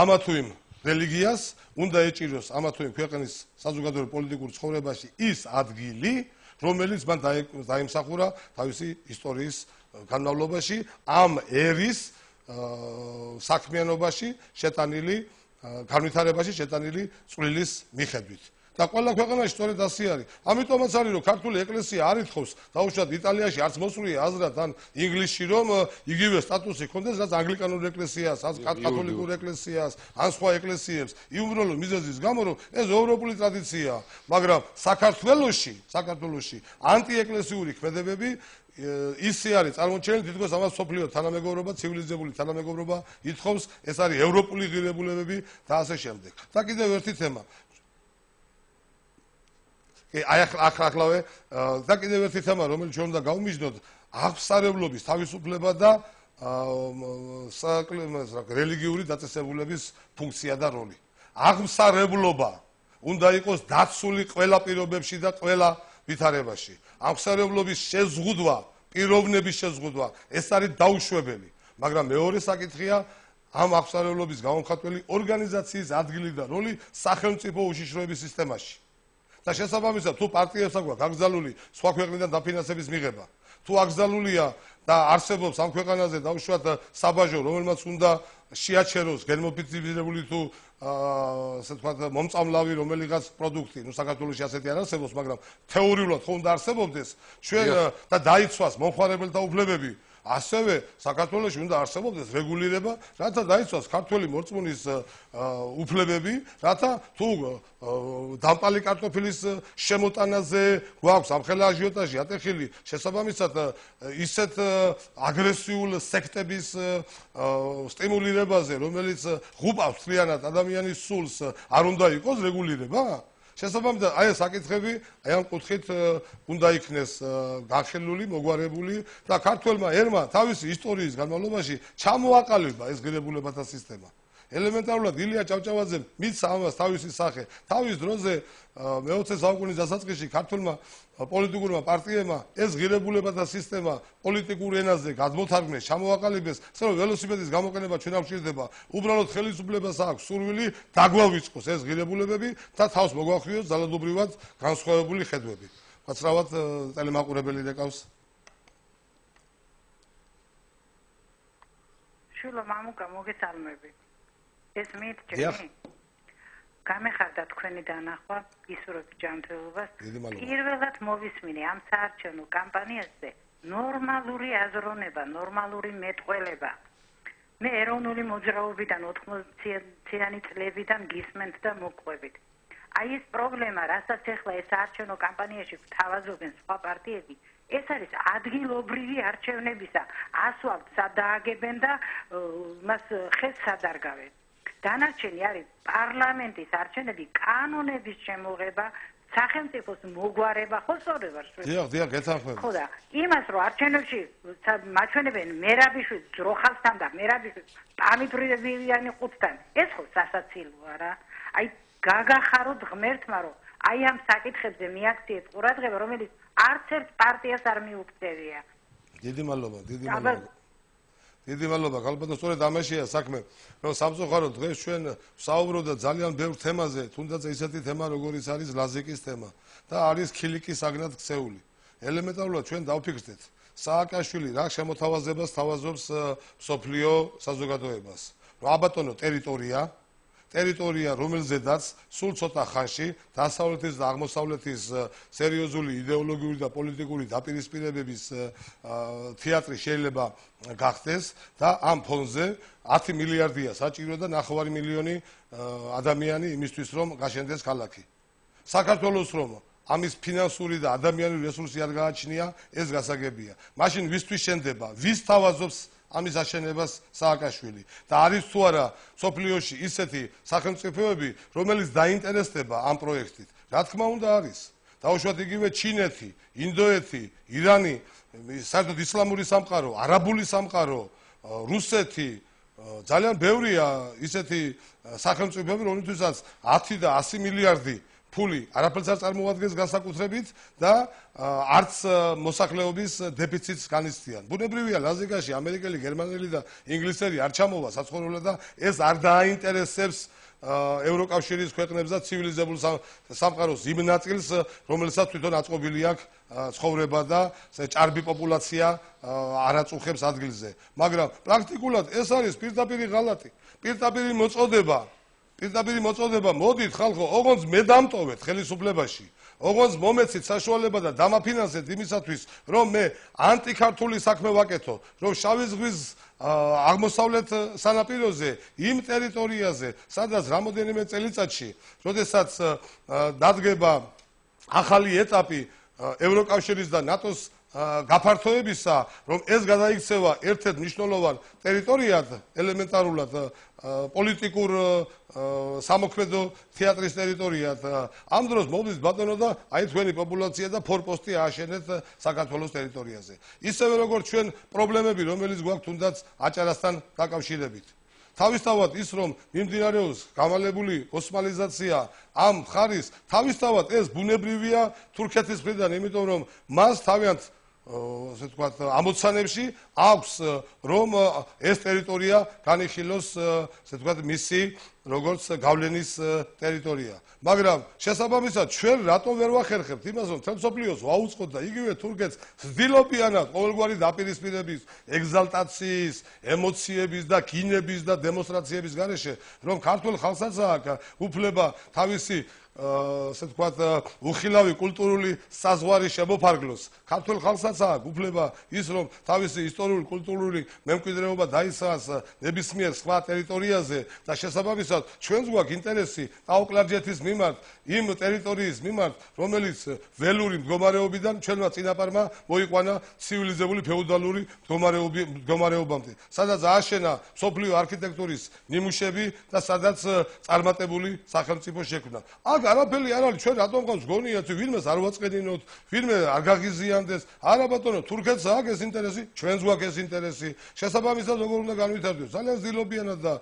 ამა თუ იმ რელიგიას უნდა ეჭიროს ამა თუ იმ ქვეყნის საზოგადოებრივ პოლიტიკურ ცხოვრებაში ის ადგილი, რომელიც მან დაიმსახურა თავისი ისტორიის განმავლობაში ამ ერის საქმიანობაში შეტანილი განვითარებაში შეტანილი წვლილის მიხედვით. და ყველა ქვეყანაში სწორედ ასე არის. ამიტომაც არის რომ ქართული ეკლესია არ ითხოვს დაუშვათ იტალიაში არც მოსვლია აზრად ან ინგლისში რომ იგივე სტატუსი ჰქონდეს რაც ანგლიკანურ ეკლესიას, ან კათოლიკურ ეკლესიას, ან სხვა ეკლესიებს. იუბრალო მიზეზის გამო რომ ეს ევროპული ტრადიციაა, მაგრამ საქართველოში ანტიეკლესიური ქმედებები ისე არის წარმოჩენილი თითქოს ამას სოფლიო თანამეგობრობა, ცივილიზებული თანამეგობრობა ითხოვს, ეს არის ევროპული ღირებულებები და ასე შემდეგ. და კიდევ ერთი თემა. ახლავე და კიდევ ერთი თემა, რომელიც ჩვენ უნდა გავმიჯნოთ, აღმსარებლობის თავისუფლება და რელიგიური დაწესებულების ფუნქცია და როლი. აღმსარებლობა უნდა იყოს დაცული ყველა პირობებში და ყველა ვითარებაში. აღმსარებლობის შეზღუდვა, პიროვნების შეზღუდვა, ეს არის დაუშვებელი. მაგრამ მეორე საკითხია ამ აღმსარებლობის გამომხატველი ორგანიზაციის ადგილი და როლი სახელმწიფო უშიშროების სისტემაში. და შესაბამისად, თუ პარტიებს აქვს აკრძალული სხვა ქვეყნიდან დაფინანსების მიღება, თუ აკრძალულია და არსებობს ამ ქვეყანაზე დაუშვათ საბაჟო, რომელმაც უნდა შეაჩეროს გენმოფიცირებული თუ ასე ვთქვათ მომწამლავი რომელიღაც პროდუქტი, ნუ საქართველოში ასეთი არ არსებობს, მაგრამ თეორიულად ხო უნდა არსებობდეს, ჩვენ და დაიცვას მომხმარებელთა უფლებები. ასევე საქართველოში უნდა არსებობდეს რეგულირება, რათა დაიცვას ქართველი მორწმუნის უფლებები, რათა თუ დამპალი კარტოფილის შემოტანაზე გვაქვს ამხელა აჟიოტაჟი ატეხილი, შესაბამისად ისეთ აგრესიულ სექტების სტიმულირებაზე, რომელიც ღუპავს მთლიანად ადამიანის სულს, არ უნდა იყოს რეგულირება? შესაბამისად, აი ეს საკითხები, აი ამ კუთხით უნდა იქნეს განხილული, მოგვარებული და ქართველმა ერმა თავისი ისტორიის განმავლობაში ჩამოაყალიბა ეს ღირებულებათა სისტემა. ელემენტარულად ილია ჭავჭავაძემ მიცა ამას თავისი სახე. თავის დროზე მე-20 საუკუნის დასაწყისში ქართულმა პოლიტიკურმა პარტიებმა ეს ღირებულებათა სისტემა პოლიტიკურ ენაზე გადმოთარგმნეს, ჩამოაყალიბეს, რომ ველოსიპედის გამოყენება ჩვენ არ გვჭირდება. უბრალოდ ხელისუფლებას აქვს სურვილი დაგვავიწყოს ეს ღირებულებები და თავს მოგვახვიოს ძალადობრივად განსხვავებული ხედვები. მაცრავად ტელემაყურებელი რეკავს. შვილო მამუკა მოგესალმები. ეს მიეჭრები. გამეხარდა თქვენი დანახვა ისურვებ ჯანმრთელობას. პირველად მოვისმინე ამ საარჩევნო კამპანიაზე ნორმალური აზროვნება, ნორმალური მეტყველება. მე ეროვნული მოძრაობიდან 80-იანი წლებიდან გისმენთ და მოყვებით. აი ეს პრობლემა, რასაც ახლა ეს საარჩევნო კამპანიაში გვთავაზობენ სხვა პარტიები, ეს არის ადგილობრივი არჩევნებისა ასვალტს დააგებენ და მას ხეს სადარგავენ. დანარჩენი არის პარლამენტის არჩევნები, კანონების შემოღება, სახელმწიფოს მოგვარება, ხო სწორად ვარ? დიახ, გეთანხმებით. ხო და იმას რომ არჩევნებში მაჩვენებენ მერაბიშვილს ძროხალთან და მერაბიშვილს პამიტრივიანი ყუთთან, ეს ხო სასაცილოა რა. აი გაგახაროთ ღმერთმა რომ აი ამ საკითხებზე მიაქციეს ყურადღება, რომელიც არც ერთ პარტიას არ მიუქცევია. დიდი მადლობა. დიდი მადლობა, გალბატონო, სწორედ ამაშია საქმე, რომ სამწუხაროდ დღეს ჩვენ ვსაუბრობთ ძალიან ბევრ თემაზე, თუნდაც ისეთი თემა, როგორიც არის ლაზიკის თემა და არის ქილიკის აგნად ქცეული. ელემენტარულად ჩვენ დავფიქრდეთ, სააკაშვილი რა შემოთავაზებას თავაზობს მსოფლიო საზოგადოებას. რომ აბატონო ტერიტორია, რომელზედაც სულ ცოტა ხანში დასავლეთის და აღმოსავლეთის სერიოზული იდეოლოგიური და პოლიტიკური დაპირისპირებების თეატრი შეიძლება გახდეს და ამ ფონზე 10 მილიარდია საჭირო და 9 მილიონი ადამიანი იმისთვის რომ გაშენდეს ქალაქი. საქართველოს რომ ამის ფინანსური და ადამიანური რესურსი არ გააჩნია, ეს გასაგებია. მაშინ ვისთვის შენდება, ვის თავაზობს ამის აშენებას სააკაშვილი და არის თუ არა სოფლიოში ისეთი სახელმწიფოები, რომელიც დაინტერესდება ამ პროექტით. რა თქმა უნდა არის. დაუშვათ იგივე ჩინეთი, ინდოეთი, ირანი, საერთოდ ისლამური სამყარო, არაბული სამყარო, რუსეთი, ძალიან ბევრია ისეთი სახელმწიფოები, რომლითაც 10 და 100 მილიარდი ფული არაფერს არ წარმოადგენს განსაკუთრებით და არც მოსახლეობის დეფიციტს განიცდიან. ბუნებრივია, ლაზიკაში ამერიკელი, გერმანელი და ინგლისელი არ ჩამოვა საცხოვრებლად და ეს არ დააინტერესებს ევროკავშირის ქვეყნებს და ცივილიზებულ სამყაროს იმ ნაწილს, რომელსაც თვითონ აწყობილი აქვს ცხოვრება და ჭარბი პოპულაცია არ აწუხებს ადგილზე. მაგრამ პრაქტიკულად ეს არის პირდაპირი ღალატი, პირდაპირი მოწოდება პირდაპირი მოწოდება მოდით ხალხო, ოღონდ მე დამტოვეთ ხელისუფლებაში. ოღონდ მომეცით საშუალება და დამაფინანსეთ იმისათვის, რომ მე ანტიქართული საქმე ვაკეთო, რომ შავი ზღვის აღმოსავლეთ სანაპიროზე, იმ ტერიტორიაზე, სადაც რამოდენიმე წელიწადში, როდესაც დადგება ახალი ეტაპი ევროკავშირის და ნატოს გაფართოებისა, რომ ეს გადაიქცევა ერთ-ერთ მნიშვნელოვან ტერიტორიად, ელემენტარულად პოლიტიკურ სამოქმედო თეატრის ტერიტორიად, ამ დროს მოვიდეს ბატონო და აი თქვენი პოპულაცია და ფორპოსტი ააშენეთ საქართველოს ტერიტორიაზე. ისევე როგორც ჩვენ პრობლემები, რომელიც გვაქვს თუნდაც აჭარასთან დაკავშირებით. თავისთავად ის რომ მიმდინარეობს გამალებული ოსმალიზაცია ამ მხარის, თავისთავად ეს ბუნებრივია თურქეთის მხრიდან, იმიტომ რომ მას თავიანთ ასე ვთქვათ ამოცანებში აქვს რომ ეს ტერიტორია განიხილოს ასე ვთქვათ მისი როგორც გავლენის ტერიტორია. მაგრამ შესაბამისად ჩვენ რატომ ვერ ვახერხებთ იმას რომ თელ მსოფლიოს ვაუწყოთ და იგივე თურქეთს ვცდილობიანად ყოველგვარი დაპირისპირების, ეგზალტაციის, ემოციების და გინების და დემონსტრაციების გარეშე რომ ქართულ ხალხსაც აქვს უფლება თავისი ასე ვთქვათ უხილავი კულტურული საზღვარი შემოფარგლოს. ქართულ ხალხსაც აქვს უფლება ის რომ თავისი ისტორიული კულტურული მემკვიდრეობა დაისახოს ნებისმიერ სხვა ტერიტორიაზე და შესაბამისად ჩვენს გვაქვს ინტერესი ტაო-კლარჯეთის მიმართ, იმ ტერიტორიის მიმართ, რომელიც ველური მდგომარეობიდან ჩვენმა წინაპარმა მოიყვანა ცივილიზებული ფეოდალური მდგომარეობამდე, სადაც ააშენა მსოფლიო არქიტექტურის ნიმუშები და სადაც წარმატებული სახელმწიფო შექმნა. არაფერი არ არის, ჩვენ რატომ გვყავს გონია თუ ვინმეს არ ვაწყენინოთ, ვინმე არ გაღიზიანდეს, არა ბატონო, თურქეთს აქვს ეს ინტერესი, ჩვენს გვაქვს ეს ინტერესი. შესაბამისად როგორ უნდა განვითარდეს? ძალიან ძილობიანად და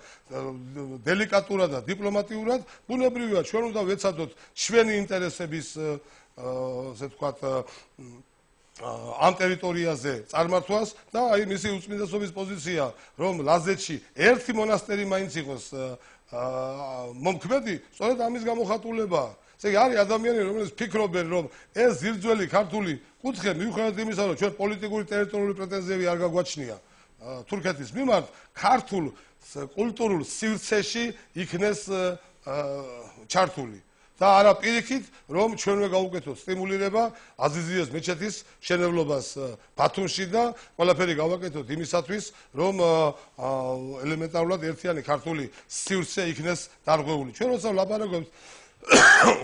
დელიკატურად და დიპლომატიურად, ბუნებრივია, ჩვენ უნდა ვეცადოთ ჩვენი ინტერესების ასე ვთქვათ ამ ტერიტორიაზე წარმართვას და აი მისი უწმინდესობის პოზიცია, რომ ლაზეთში ერთი მონასტერი მაინც იყოს მომქმედი, სწორედ ამის გამოხატულებაა. ესე იგი არის ადამიანები, რომლებიც ფიქრობენ, რომ ეს ძირძველი ქართული კუთხე მიუხედავად იმისა, რომ ჩვენ პოლიტიკური ტერიტორიული პრეტენზიები არ გაგვაჩნია თურქეთის მიმართ, ქართულ კულტურულ სივრცეში იქნეს ჩართული. და არა პირიქით, რომ ჩვენვე გავუკეთოთ სტიმულირება აზიზიეს მეჩეთის შენებლობას ბათუმში და ყველაფერი გავაკეთოთ იმისათვის, რომ ელემენტარულად ერთიანი ქართული სივრცე იქნეს დარღვეული. ჩვენ როცა ვლაპარაკობთ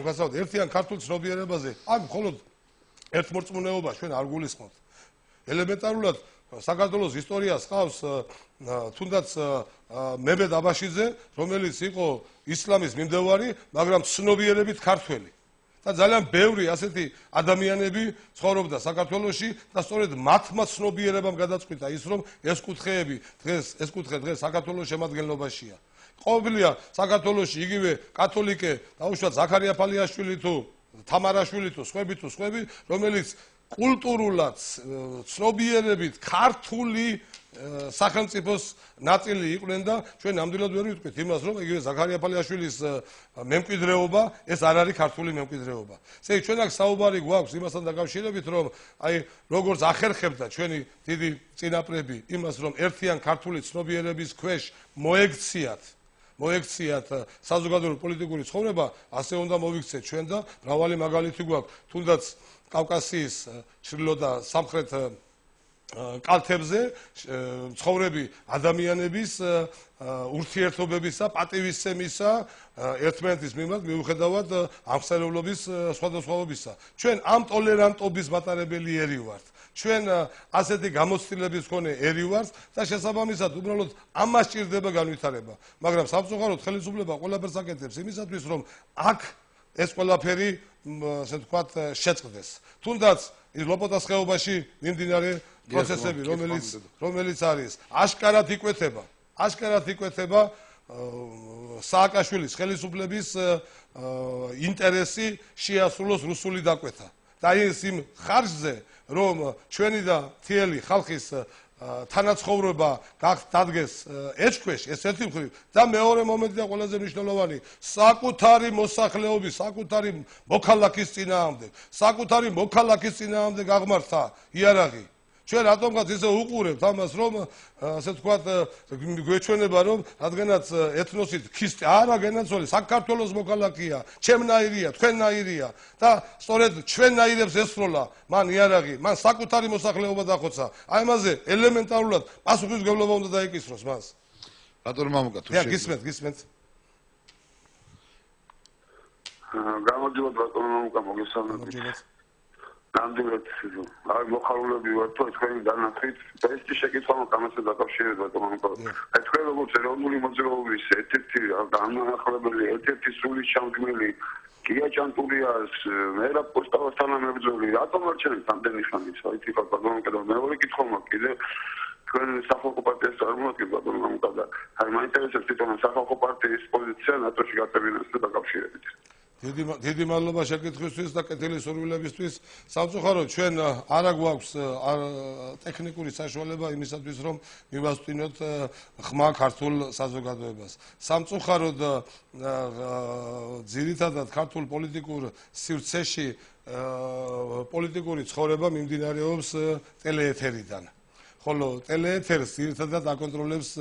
უგასავთ ერთიან ქართულ ცნობიერებაზე, აქ მხოლოდ ერთმორწმუნეობა ჩვენ არ გულისხმობთ. ელემენტარულად საქართველოს ისტორიას ყავს თუნდაც მემედ აბაშიძე, რომელიც იყო ისლამის მიმდევარი, მაგრამ ცნობიერებით ქართველი. და ძალიან ბევრი ასეთი ადამიანები ცხოვრობდა საქართველოში და სწორედ მათმა ცნობიერებამ გადაწყვიტა ის, რომ ეს კუთხეები დღეს საქართველოს შემადგენლობაშია. ყოფილია საქართველოში იგივე კათოლიკე, დაუშვათ ზაქარია ფალიაშვილი თუ თამარაშვილი თუ სხვები, რომელიც კულტურულად ცნობიერებით ქართული სახელმწიფოს ნაწილი იყვნენ და ჩვენ ნამდვილად ვერ ვიტყვით იმას, რომ იგივე ზაქარია ფალიაშვილის მემკვიდრეობა ეს არ არის ქართული მემკვიდრეობა. ესე იგი ჩვენ აქ საუბარი გვაქვს იმასთან დაკავშირებით, რომ აი როგორც ახერხებდა ჩვენი დიდი წინაპრები იმას, რომ ერთიან ქართული ცნობიერების ქვეშ მოექციათ საზოგადოებრივი პოლიტიკური ცხოვრება, ასე უნდა მოვიქცეთ ჩვენ და მრავალი მაგალითი გვაქვს, თუნდაც კავკასიის ჩრდილო და სამხრეთ კალთებზე ცხოვრები ადამიანების ურთიერთობებისა, პატივისცემისა ერთმანეთის მიმართ მიუხედავად აღმსარებლობის სხვადასხვაობისა. ჩვენ ამ ტოლერანტობის მატარებელი ერი ვართ. ჩვენ ასეთი გამოცდილების მქონე ერი ვართ და შესაბამისად უბრალოდ ამას ჭირდება განვითარება. მაგრამ სამწუხაროდ ხელისუფლება ყველაფერს აკეთებს იმისათვის, რომ აქ ეს ყველაფერი ასე ვთქვათ შეწყდეს. თუნდაც ის ლოპოტას ხეობაში მიმდინარე პროცესები, რომელიც არის აშკარად იკვეთება სააკაშვილის ხელისუფლების ინტერესი შეასრულოს რუსული დაკვეთა. და ის იმ ხარჯზე, რომ ჩვენი და მთელი ხალხის თანაცხოვრება დადგეს ეჭქვეშ, ეს ერთი მხრივ და მეორე მომენტი და ყველაზე მნიშვნელოვანი, საკუთარი მოსახლეობის, საკუთარი მოქალაქის წინააღმდეგ გაღმართა იარაღი ჩვენ რატომღაც ისე უყურებთ ამას, რომ ასე ვთქვათ, გვეჩვენება, რომ რადგანაც ეთნოსით ქისტი არა გენაცვალი, საქართველოს მოქალაქეა, ჩემნაირია, თქვენნაირია და სწორედ ჩვენნაირებს ესროლა მან იარაღი, მან საკუთარი მოსახლეობა დახოცა. აი ამაზე ელემენტარულად პასუხისმგებლობა უნდა დაეკისროს მას. რატომ მამუკა თუ გისმენთ, გისმენთ. გამარჯობა ბატონო მამუკა, მოგესალმებით. ნამდვილად აი მოხარულები ვართ თუ თქვენი განათლით და ეს შეკითხვა მომკამასე დაკავშირებით ბატონო მამუკა. აი თქვენ როგორც ეროვნული მოძრაობის ერთ-ერთი განმაახლებელი, ერთ-ერთი სული ჩამდგმელი გია ჭანტურიას მერაბ კოსტავას თანამებრძოლი რატომ არჩენით ამდენი ხანი საერთოდ ბატონო მამუკა და მეორე კითხვა მაქვს კიდე თქვენ სახალხო პარტიას წარმოადგენთ ბატონო მამუკა და აი მაინტერესებს თვითონ სახალხო პარტიის პოზიცია ნატოში გაწევინებასთან დაკავშირებით. დიდი მადლობა შეკითხვისთვის და კეთილი სურვილებისთვის. სამწუხაროდ ჩვენ არა გვაქვს ტექნიკური საშუალება იმისათვის რომ მივასწინოთ ხმა ქართულ საზოგადოებას. სამწუხაროდ ძირითადად ქართულ პოლიტიკურ სივრცეში პოლიტიკური ცხოვრება მიმდინარეობს ტელეეთერიდან. ხოლო ტელეეთერს ძირითადად აკონტროლებს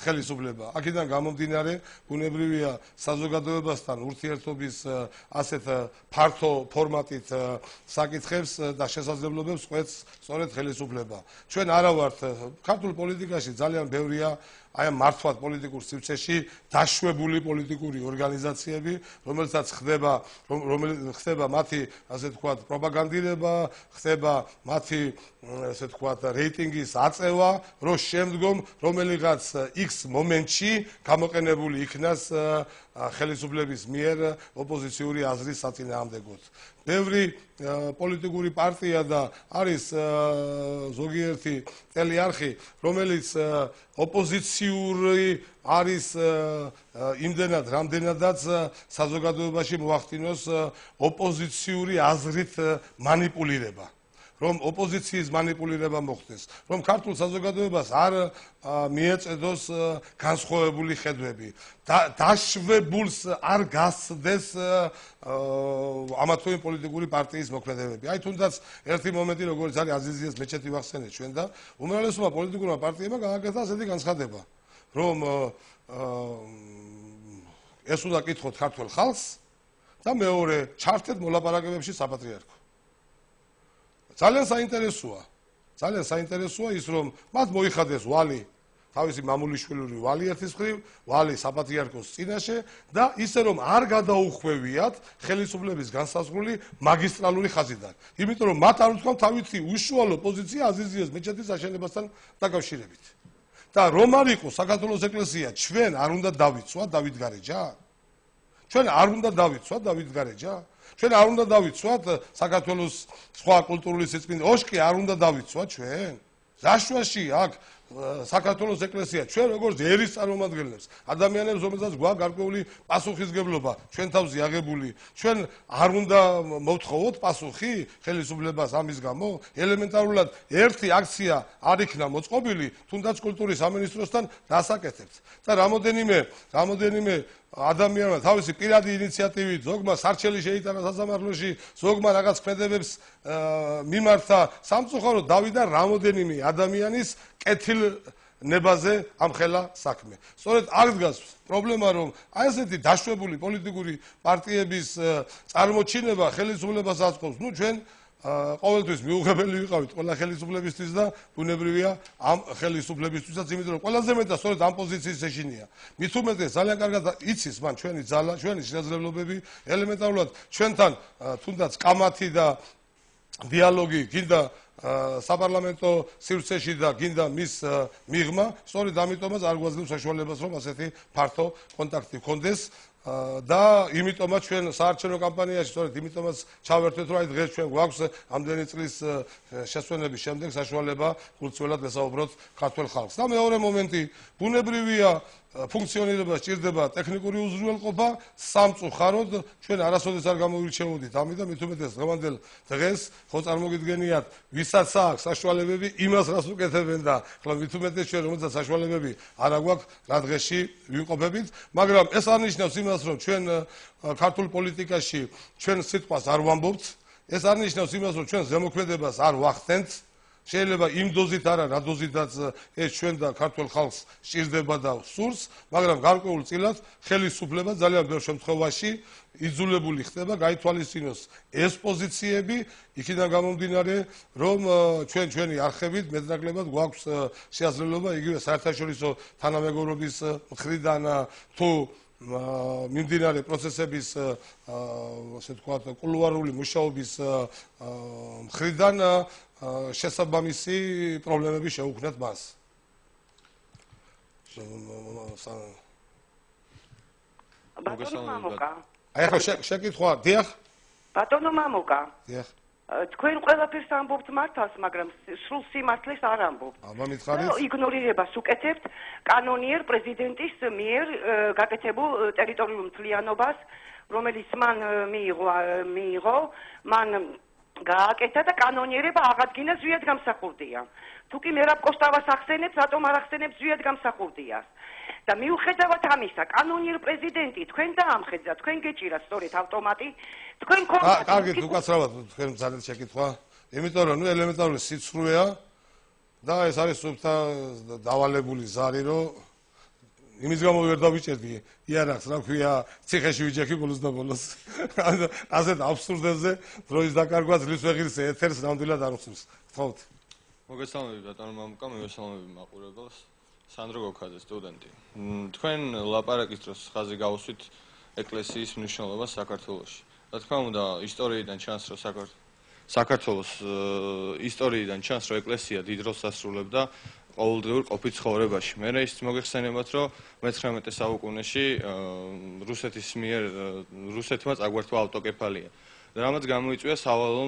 ხელისუფლება. აქედან გამომდინარე, ბუნებრივია საზოგადოებასთან ურთიერთობის ასეთ ფართო ფორმატით საკითხებს და შესაძლებლობებს ყვეთს სწორედ ხელისუფლება. ჩვენ არა ვართ ქართულ პოლიტიკაში ძალიან ბევრია აი ამ მართვად პოლიტიკურ სივრცეში დაშვებული პოლიტიკური ორგანიზაციები, რომელსაც ხდება მათი ასე ვთქვათ პროპაგანდირება, ხდება მათი ასე ვთქვათ რეიტინგის აწევა, რომ შემდგომ რომელიღაც X მომენტში გამოყენებული იქნას ხელისუფლების მიერ ოპოზიციური აზრის საწინააღმდეგოდ. ბევრი პოლიტიკური პარტია და არის ზოგიერთი ტელეარხი, რომელიც ოპოზიციური არის იმდენად, რამდენადაც საზოგადოებაში მოახდინოს ოპოზიციური აზრით მანიპულირება. რომ ოპოზიციის მანიპულირება მოხდეს, რომ ქართულ საზოგადოებას არ მიეწედოს განსხვავებული ხედვები, დაშვებულს არ გასცდეს ამა თუ იმ პოლიტიკური პარტიის მოქმედებები. აი თუნდაც ერთი მომენტი, როგორც არის აზიზიას მეჩეთი ვახსენეთ ჩვენ და უმრავლესობა პოლიტიკურმა პარტიებმა გააკეთა ასეთი განცხადება, რომ ეს უნდა კითხოთ ქართულ ხალხს და მეორე ჩართეთ მოლაპარაკებებში საპატრიარქო. ძალიან საინტერესოა ის რომ მათ მოიხადეს ვალი თავისი მამულიშვილური ვალი ერთის მხრივ, ვალი საპატრიარქოს წინაშე და ისე რომ არ გადაუხვევიათ ხელისუფლების განსაზღვრული მაგისტრალური ხაზიდან. იმიტომ რომ მათ არ უთქვამთ თავისი უშუალო პოზიცია აზიზიას მეჩეთის აშენებასთან დაკავშირებით. და რომ არ იყოს საქართველოს ეკლესია, ჩვენ არ უნდა დავიცვათ დავით გარეჯა? ჩვენ არ უნდა დავიცვათ დავით გარეჯა? ჩვენ არ უნდა დავიცვათ საქართველოს სხვა კულტურული სიწმინდე ოშკი არ უნდა დავიცვათ ჩვენ? რაშვაში აქ საქართველოს ეკლესია ჩვენ როგორც ერის წარმომადგენლებს ადამიანებს რომელსაც გვაქვს გარკვეული პასუხისგებლობა ჩვენ თავზე აღებული ჩვენ არ უნდა მოვთხოვოთ პასუხი ხელისუფლებას ამის გამო ელემენტარულად ერთი აქცია არ იქნა მოწყობილი თუნდაც კულტურის სამინისტროსთან დასაკეთებთ და რამოდენიმე ადამიანმა თავისი პირადი ინიციატივით ზოგმა სარჩელი შეიტანა სასამართლოში ზოგმა რაღაც ქმედებებს მიმართა სამწუხაროდ დავიდა რამოდენიმე ადამიანის კეთილნებაზე ამხელა საქმე. სწორედ აქ დგას პრობლემა, რომ აი ესეთი დაშვებული პოლიტიკური პარტიების წარმოჩინება ხელისუფლებას აწყობს. ნუ ჩვენ ყოველთვის მიუღებელი ვიყავით ყველა ხელისუფლებისთვის და ბუნებრივია ამ ხელისუფლებისთვისაც, იმიტომ რომ ყველაზე მეტად სწორედ ამ პოზიციის ეშინია. მით უმეტეს ძალიან კარგად იცის მან ჩვენი ძალა, ჩვენი შესაძლებლობები, ელემენტარულად ჩვენთან თუნდაც კამათი და დიალოგი გინდა საპარლამენტო სივრცეში და გინდა მის მიღმა, სწორედ ამიტომაც არ გვაძლევს საშუალებას, რომ ასეთი ფართო კონტაქტი გქონდეს. და იმიტომაც ჩვენ საარჩევნო კამპანიაში სწორედ იმიტომაც ჩავერთვეთ რომ აი დღეს ჩვენ გვაქვს ამდენი წლის შესვენების შემდეგ საშუალება გულწრფელად ვესაუბროთ ქართულ ხალხს. და მეორე მომენტი ბუნებრივია ფუნქციონირება სჭირდება ტექნიკური უზრუნველყოფა სამწუხაროდ ჩვენ არასოდეს არ გამოირჩეოდით ამით და მით უმეტეს დღევანდელ დღეს ხო წარმოგიდგენიათ ვისაც აქვს საშუალებები იმას რას უკეთებენ და ხოლო მით უმეტეს ჩვენ რომელსაც საშუალებები არ აგვაქვს რა დღეში ვიმყოფებით მაგრამ ეს არ ნიშნავს იმას რომ ჩვენ ქართულ პოლიტიკაში ჩვენ სიტყვას არ ვამბობთ ეს არ ნიშნავს იმას რომ ჩვენ ზემოქმედებას არ ვახდენთ შეიძლება იმ დოზით არა, რა დოზითაც ეს ჩვენ და ქართულ ხალხს სჭირდება და სურს, მაგრამ გარკვეულწილად ხელისუფლება ძალიან ბევრ შემთხვევაში იძულებული ხდება გაითვალისწინოს ეს პოზიციები, იქიდან გამომდინარე, რომ ჩვენი არხებით მეტნაკლებად გვაქვს შესაძლებლობა იგივე საერთაშორისო თანამეგობრობის მხრიდან თუ მიმდინარე პროცესების ასე ვთქვათ კულუარული მუშაობის მხრიდან შესაბამისი პრობლემები შეუქმნათ მას. ბატონო მამუკა. აი ახლა შეკითხვა, დიახ? ბატონო მამუკა. დიახ. თქვენ ყველაფერს ამბობთ მართავს, მაგრამ სრულ სიმართლეს არ ამბობთ. აბა მითხარით? იგნორირებას უკეთებთ კანონიერ პრეზიდენტის მიერ გაკეთებულ ტერიტორიულ მთლიანობას, რომელიც მან მიიღო, მან გააკეთა და კანონიერება აღადგინა ზვიად გამსახურდია. თუ კი მერაბ კოსტავას ახსენებს, რატომ არ ახსენებს ზვიად გამსახურდიას? და მიუხედავად ამისა, კანონიერ პრეზიდენტი თქვენ დაამხედა, თქვენ გეჭირათ სწორედ ავტომატი, თქვენ კონკრეტულად კარგით, უკაცრავად თქვენ ძალიან შეკითხვა, იმიტომ რომ ელემენტარული სიცრუეა და ეს არის სუფთა დავალებული ზარი, რომ იმის გამო ვერ დავიჭერდი იარაღს, რა ქვია, ციხეში ვიჯექი ბოლოს და ბოლოს. ასეთ აბსურდებზე დროის დაკარგვა ძლივს ვეღირსე ეთერს ნამდვილად არ უხსნის. გთხოვთ. მოგესალმებით ბატონო მამუკა, მოგესალმებით მაყურებელს. სანდრო გოქაძე სტუდენტი. თქვენ ლაპარაკის დროს ხაზი გავუსვით ეკლესიის მნიშვნელობას საქართველოში. რა თქმა უნდა, ისტორიიდან ჩანს, რომ საქართველოს ისტორიიდან ჩანს, რომ ეკლესია დიდ როლს ასრულებდა ყოველდღიურ ყოფით ცხოვრებაში. მე ის მოგეხსენებათ, რომ მე-19 საუკუნეში რუსეთმა წაგვართვა ავტოკეფალია. რამაც გამოიწვია სავალალო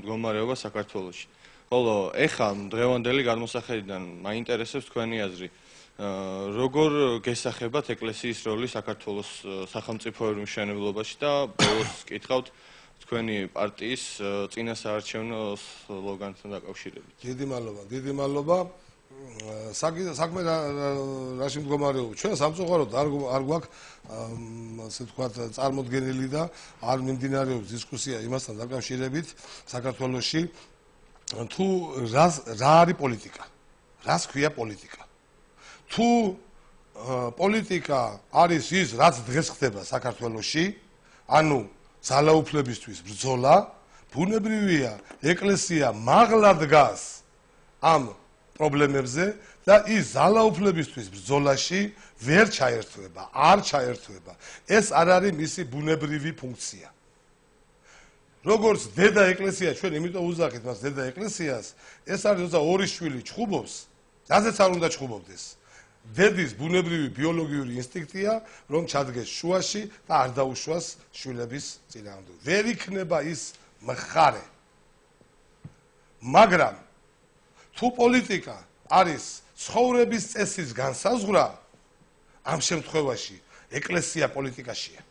მდგომარეობა საქართველოში. ხოლო ეხლა დღევანდელი გადმოსახედიდან მაინტერესებს თქვენი აზრი. როგორ გესახებათ ეკლესიის როლი საქართველოს სახელმწიფოებრივ მშენებლობაში და ბოლოს კითხავთ თქვენი პარტიის წინასაარჩევნო სლოგანთან დაკავშირებით. დიდი მადლობა. საქმე რაში მდგომარეობს? ჩვენ სამწუხაროდ არ გვაქვს ასე ვთქვათ წარმოდგენილი და არ მიმდინარეობს დისკუსია იმასთან დაკავშირებით საქართველოში თუ რა არის პოლიტიკა? რას ქვია პოლიტიკა? თუ პოლიტიკა არის ის, რაც დღეს ხდება საქართველოში, ანუ ძალაუფლებისთვის ბრძოლა, ბუნებრივია, ეკლესია მაღლა დგას ამ პრობლემებზე და ის ძალაუფლებისთვის ბრძოლაში ვერ ჩაერთვება, არ ჩაერთვება. ეს არ არის მისი ბუნებრივი ფუნქცია. როგორც დედა ეკლესია, ჩვენ იმიტომ უძახით მას დედა ეკლესიას, ეს არის როცა ორი შვილი ჩხუბობს, რაზეც არ უნდა ჩხუბობდეს. დედის ბუნებრივი ბიოლოგიური ინსტინქტია, რომ ჩადგეს შუაში და არ დაუშვას შვილების წინააღმდეგ. ვერ იქნება ის მხარე. მაგრამ თუ პოლიტიკა არის ცხოვრების წესის განსაზღვრა, ამ შემთხვევაში ეკლესია პოლიტიკაშია.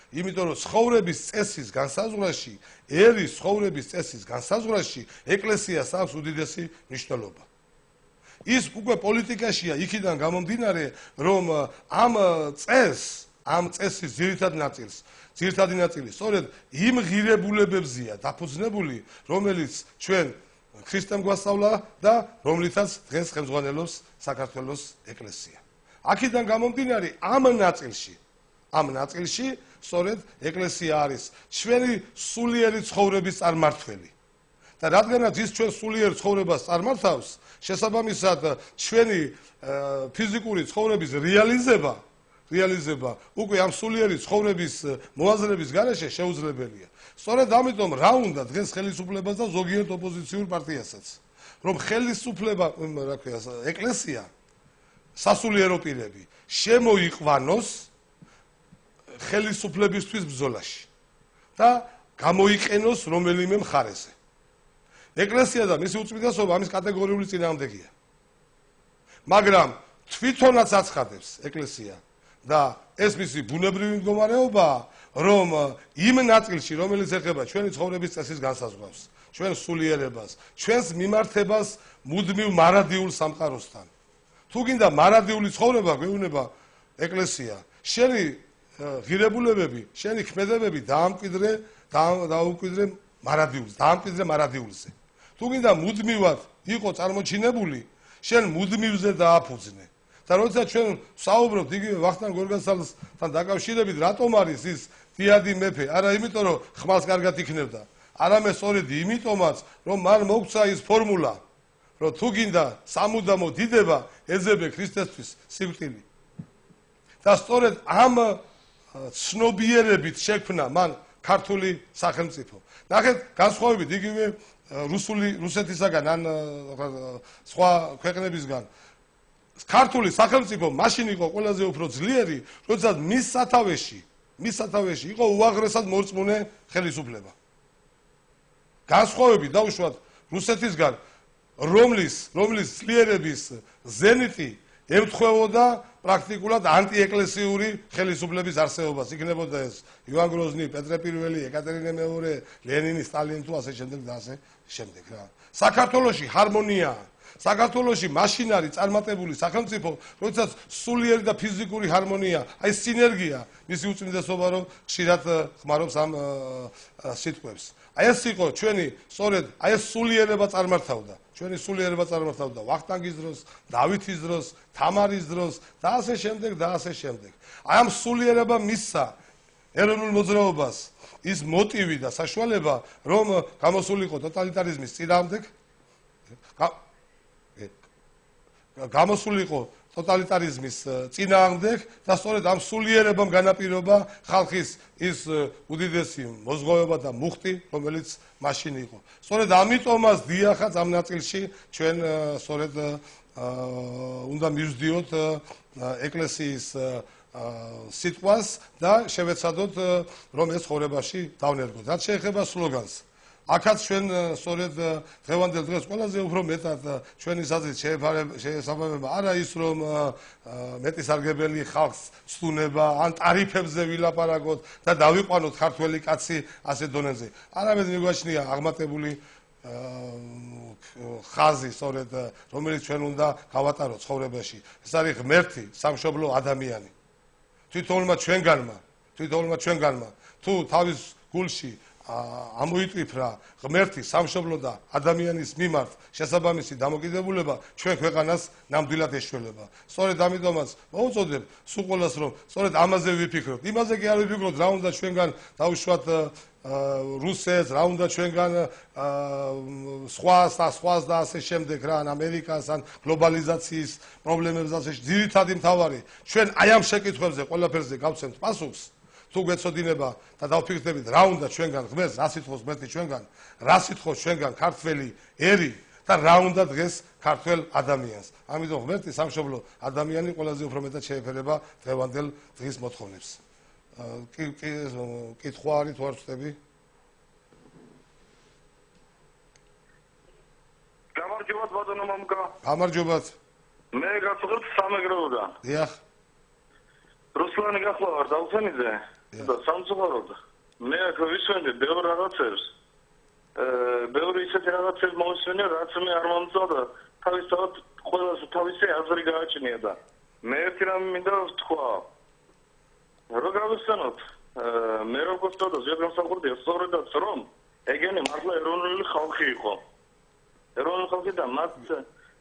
იმიტომ რომ ცხოვრების წესის განსაზღვრაში, ერის ცხოვრების წესის განსაზღვრაში ეკლესიას აქვს უდიდესი მნიშვნელობა. ის უკვე პოლიტიკაშია იქიდან გამომდინარე, რომ ამ წესის ძირითადი ნაწილი სწორედ იმ ღირებულებებზია დაფუძნებული, რომელიც ჩვენ ქრისტემ გვასწავლა და რომლითაც დღეს ხელმძღვანელობს საქართველოს ეკლესია. აქედან გამომდინარე ამ ნაწილში სწორედ ეკლესია არის ჩვენი სულიერი ცხოვრების წარმართველი. და რადგანაც ის ჩვენ სულიერ ცხოვრებას წარმართავს, შესაბამისად ჩვენი ფიზიკური ცხოვრების რეალიზება უკვე ამ სულიერი ცხოვრების მოაზრების გარეშე შეუძლებელია. სწორედ ამიტომ რა უნდა დღეს ხელისუფლებას და ზოგიერთ ოპოზიციურ პარტიასაც, რომ ხელისუფლება, რა ქვია, ეკლესია სასულიერო პირები შემოიყვანოს ხელისუფლებისთვის ბრძოლაში და გამოიყენოს რომელიმე მხარეზე. ეკლესია და მისი უწმიდესობა ამის კატეგორიული წინააღმდეგია. მაგრამ თვითონაც აცხადებს ეკლესია და ეს მისი ბუნებრივი მდგომარეობაა, რომ იმ ნაწილში, რომელიც ეხება ჩვენი ცხოვრების წესის განსაზღვრავს, ჩვენ სულიერებას, ჩვენს მიმართებას მუდმივ მარადიულ სამყაროსთან. თუ გინდა მარადიული ცხოვრება გვეუბნება ეკლესია, შენი ღირებულებები, შენი ქმედებები დაამკვიდრე მარადიულზე. თუ გინდა მუდმივად იყო წარმოჩინებული, შენ მუდმივზე დააფუძნე. და როცა ჩვენ საუბრობთ იგივე ვახტანგ გორგასალთან დაკავშირებით, რატომ არის ის დიადი მეფე? არა იმიტომ, რომ ხმალს კარგად იქნებდა, არამედ სწორედ იმიტომაც, რომ მან მოგცა ის ფორმულა, რომ თუ გინდა სამუდამო დიდება, ეძებე ქრისტესთვის სიკვდილი. და სწორედ ამ ცნობიერებით შექმნა მან ქართული სახელმწიფო. ნახეთ, განსხვავებით იგივე რუსეთისაგან ან სხვა ქვეყნებისგან, ქართული სახელმწიფო მაშინ იყო ყველაზე უფრო ძლიერი, როდესაც მის სათავეში იყო უაღრესად მორწმუნე ხელისუფლება. განსხვავებით დაუშვათ რუსეთისგან, რომლის ძლიერების ზენიტი ემთხვეოდა პრაქტიკულად ანტიეკლესიური ხელისუფლების არსებობას. იქნებოდა ეს ივან გროზნი, პეტრე პირველი, ეკატერინე მეორე, ლენინი, სტალინი თუ ასე შემდეგ და ასე შემდეგ რა. საქართველოში ჰარმონიაა. საქართველოში მაშინ არის წარმატებული სახელმწიფო, როდესაც სულიერი და ფიზიკური ჰარმონია, აი სინერგია, მისი უწმინდესობა რომ ხშირად ხმარობს ამ სიტყვებს. აი ეს იყო ჩვენი სწორედ აი ეს სულიერება წარმართავდა. ჩვენი სულიერება წარმართავდა ვახტანგის დროს, დავითის დროს, თამარის დროს და ასე შემდეგ და ასე შემდეგ. აი ამ სულიერებამ მისცა ეროვნულ მოძრაობას ის მოტივი და საშუალება, რომ გამოსულიყო ტოტალიტარიზმის წინააღმდეგ, გამოსულიყო ტოტალიტარიზმის წინააღმდეგ და სწორედ ამ სულიერებამ განაპირობა ხალხის ის უდიდესი მოზღვავება და მუხტი, რომელიც მაშინ იყო. სწორედ ამიტომაც დიახაც ამ ნაწილში ჩვენ სწორედ უნდა მივსდიოთ ეკლესიის სიტყვას და შევეცადოთ რომ ეს ცხოვრებაში დავნერგოთ. რაც შეეხება სლოგანს, აქაც ჩვენ სწორედ დღევანდელ დღეს ყველაზე უფრო მეტად ჩვენი საზრით შეესაბამება არა ის რომ მეტისარგებელი ხალხს ცდუნება ან ტარიფებზე ვილაპარაკოთ და დავიყვანოთ ქართველი კაცი ასე დონეზე. არამედ მიგვაჩნია აღმატებული ხაზი სწორედ რომელიც ჩვენ უნდა გავატაროთ ცხოვრებაში. ეს არის ღმერთი, სამშობლო ადამიანი. თვითონმა ჩვენგანმა თუ თავის გულში ამოიტვიფრა ღმერთი, სამშობლო და ადამიანის მიმართ შესაბამისი დამოკიდებულება, ჩვენ ქვეყანას ნამდვილად ეშველება. სწორედ ამიტომაც მოუწოდებ სულ ყველას რომ სწორედ ამაზე ვიფიქროთ. იმაზე კი არ ვიფიქროთ რა უნდა ჩვენგან დაუშვათ რუსეთს, რა უნდა ჩვენგან სხვას და ასე შემდეგ რა, ან ამერიკას, ან გლობალიზაციის პრობლემებს ასე. ძირითადი მთავარი ჩვენ აი ამ შეკითხვებზე ყველაფერზე გავცემთ პასუხს. თუ გვეცოდინება და დავფიქრდებით რა უნდა ჩვენგან ღმერთს, რა სიტყვის ღმერთი ჩვენგან, რა სიტყვის ჩვენგან ქართველი ერი და რა უნდა დღეს ქართველ ადამიანს. ამიტომ ღმერთი სამშობლო ადამიანი ყველაზე უფრო მეტად შეეფერება დღევანდელ დღის მოთხოვნებს. კითხვა არის თუ არ ვწდები? გამარჯობათ ბატონო მამუკა. გამარჯობათ. მე გასულებ სამეგრელოდან. დიახ. რუსლანი გახლავ არ დავხენიძე და სამწუხაროდ მე აქ ვისვენდი ბევრ რაღაცებს. ბევრი ისეთი რაღაცებს მოვისმენე, რაც მე არ მომწონდა და თავისთავად ყველას თავისი აზრი გააჩნია და მე ერთი რამე მინდა ვთქვა. რო გავიხსენოთ, მე როგორც თვითონ ზეგამსახურდია სწორედაც რომ ეგენი მართლა ეროვნული ხალხი იყო. ეროვნული ხალხი და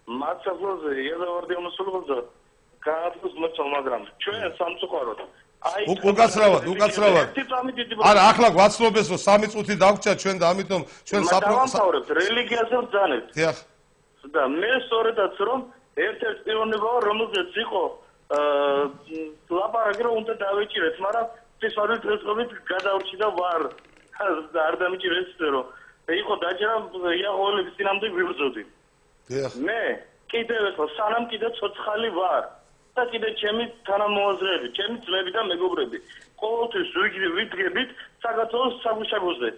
მათ საფლოზე იაზავარდია მოსულიყო გააძლოს მოწოლ, მაგრამ ჩვენ სამწუხაროდ უკაცრავად. არა, ახლა გვაცნობეს რომ 3 წუთი დაგვრჩა ჩვენ და ამიტომ ჩვენ დავამთავრებთ რელიგიაზე ვძანებთ. დიახ. და მე სწორედაც რომ ერთ-ერთი პიროვნება რომელზეც იყო ლაპარაკი რომ უნდა დავიჭირეთ, მაგრამ ფსიქოლოგიურად დღესდღეობით გადავრჩი და ვარ არ დამიჭირეს რომ იყო დაჭერა იაყოველების წინამდე ვიბრძოდი. დიახ. მე კიდევ ერთხელ სანამ კიდე ცოცხალი ვარ და კიდე ჩემი თანამოაზრეები, ჩემი ძმები და მეგობრები ყოველთვის ვიდგებით საქართველოს საგუშაგოზე.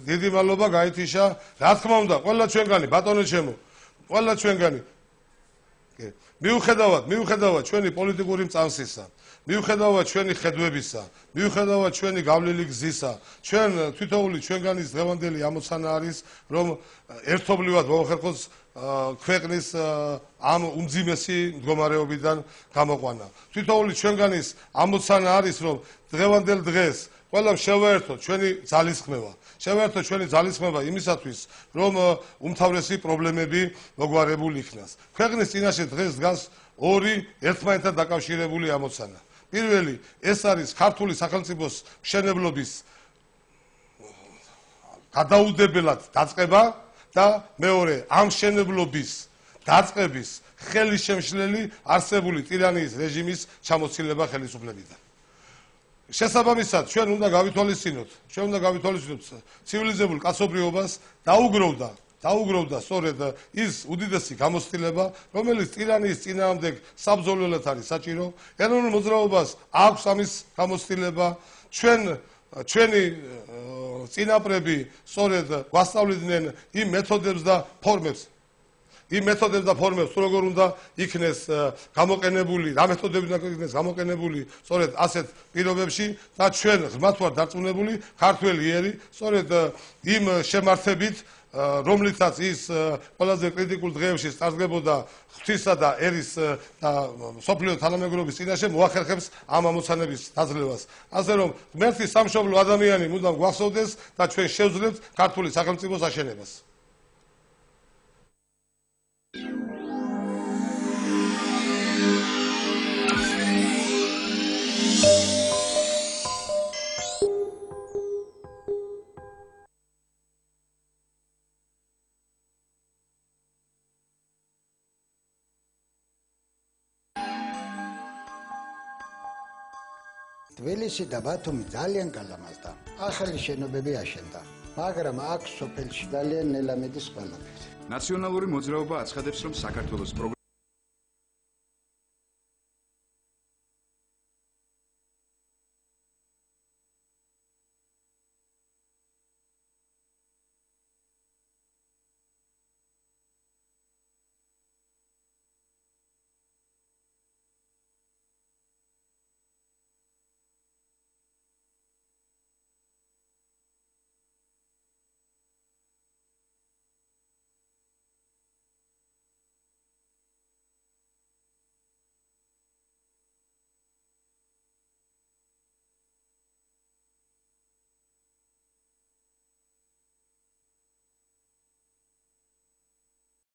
დიდი მადლობა გაითიშა. რა თქმა უნდა, ყველა ჩვენგანი ბატონო ჩემო, ყველა ჩვენგანი მიუხედავად ჩვენი პოლიტიკური მწამსისა, მიუხედავად ჩვენი ხედვებისა, მიუხედავად ჩვენი გავლილი გზისა, ჩვენ თითოეული ჩვენგანის დღევანდელი ამოცანა არის, რომ ერთობლივად მოახერხოს ქვეყნის ამ უმძიმესი მდგომარეობიდან გამოყვანა. თითოეული ჩვენგანის ამოცანა არის, რომ დღევანდელ დღეს ყველამ შევაერთოთ ჩვენი ძალისხმევა. შევაერთოთ ჩვენი ძალისხმევა იმისათვის, რომ უმთავრესი პრობლემები მოგვარებული იქნას. ქვეყნის წინაშე დღეს დგას ორი ერთმანეთთან დაკავშირებული ამოცანა. პირველი, ეს არის ქართული სახელმწიფოს მშენებლობის გადაუდებელად დაწყება და მეორე, ამ მშენებლობის დაწყების ხელისშემშლელი არსებული ტირანიის რეჟიმის ჩამოცილება ხელისუფლებიდან. შესაბამისად, ჩვენ უნდა გავითვალისწინოთ ცივილიზებულ კაცობრიობას დაუგროვდა სწორედ ის უდიდესი გამოცდილება, რომელიც ტირანიის წინააღმდეგ საბრძოლველად არის საჭირო. ეროვნულ მოძრაობას აქვს ამის გამოცდილება. ჩვენი წინაპრები სწორედ გვასწავლიდნენ იმ მეთოდებს და ფორმებს, თუ როგორ უნდა იქნეს გამოყენებული, რა მეთოდები უნდა იქნეს გამოყენებული სწორედ ასეთ პირობებში და ჩვენ ღრმად ვარ დარწმუნებული, ქართველი ერი სწორედ იმ შემართებით, რომლითაც ის ყველაზე კრიტიკულ დღეებში სტარგებოდა ღვთისა და ერის და სოფლიო თანამეგობრობის წინაშე მოახერხებს ამ ამოცანების დაძლევას. ასე რომ ღმერთი სამშობლო ადამიანი მუდამ გვახსოვდეს და ჩვენ შევძლებთ ქართული სახელმწიფოს აშენებას. თბილისი და ბათუმი ძალიან გალამაზდა. ახალი შენობები აშენდა, მაგრამ აქ სოფელში ძალიან ნელამედის ყველაფერი. ნაციონალური მოძრაობა აცხადებს, რომ საქართველოს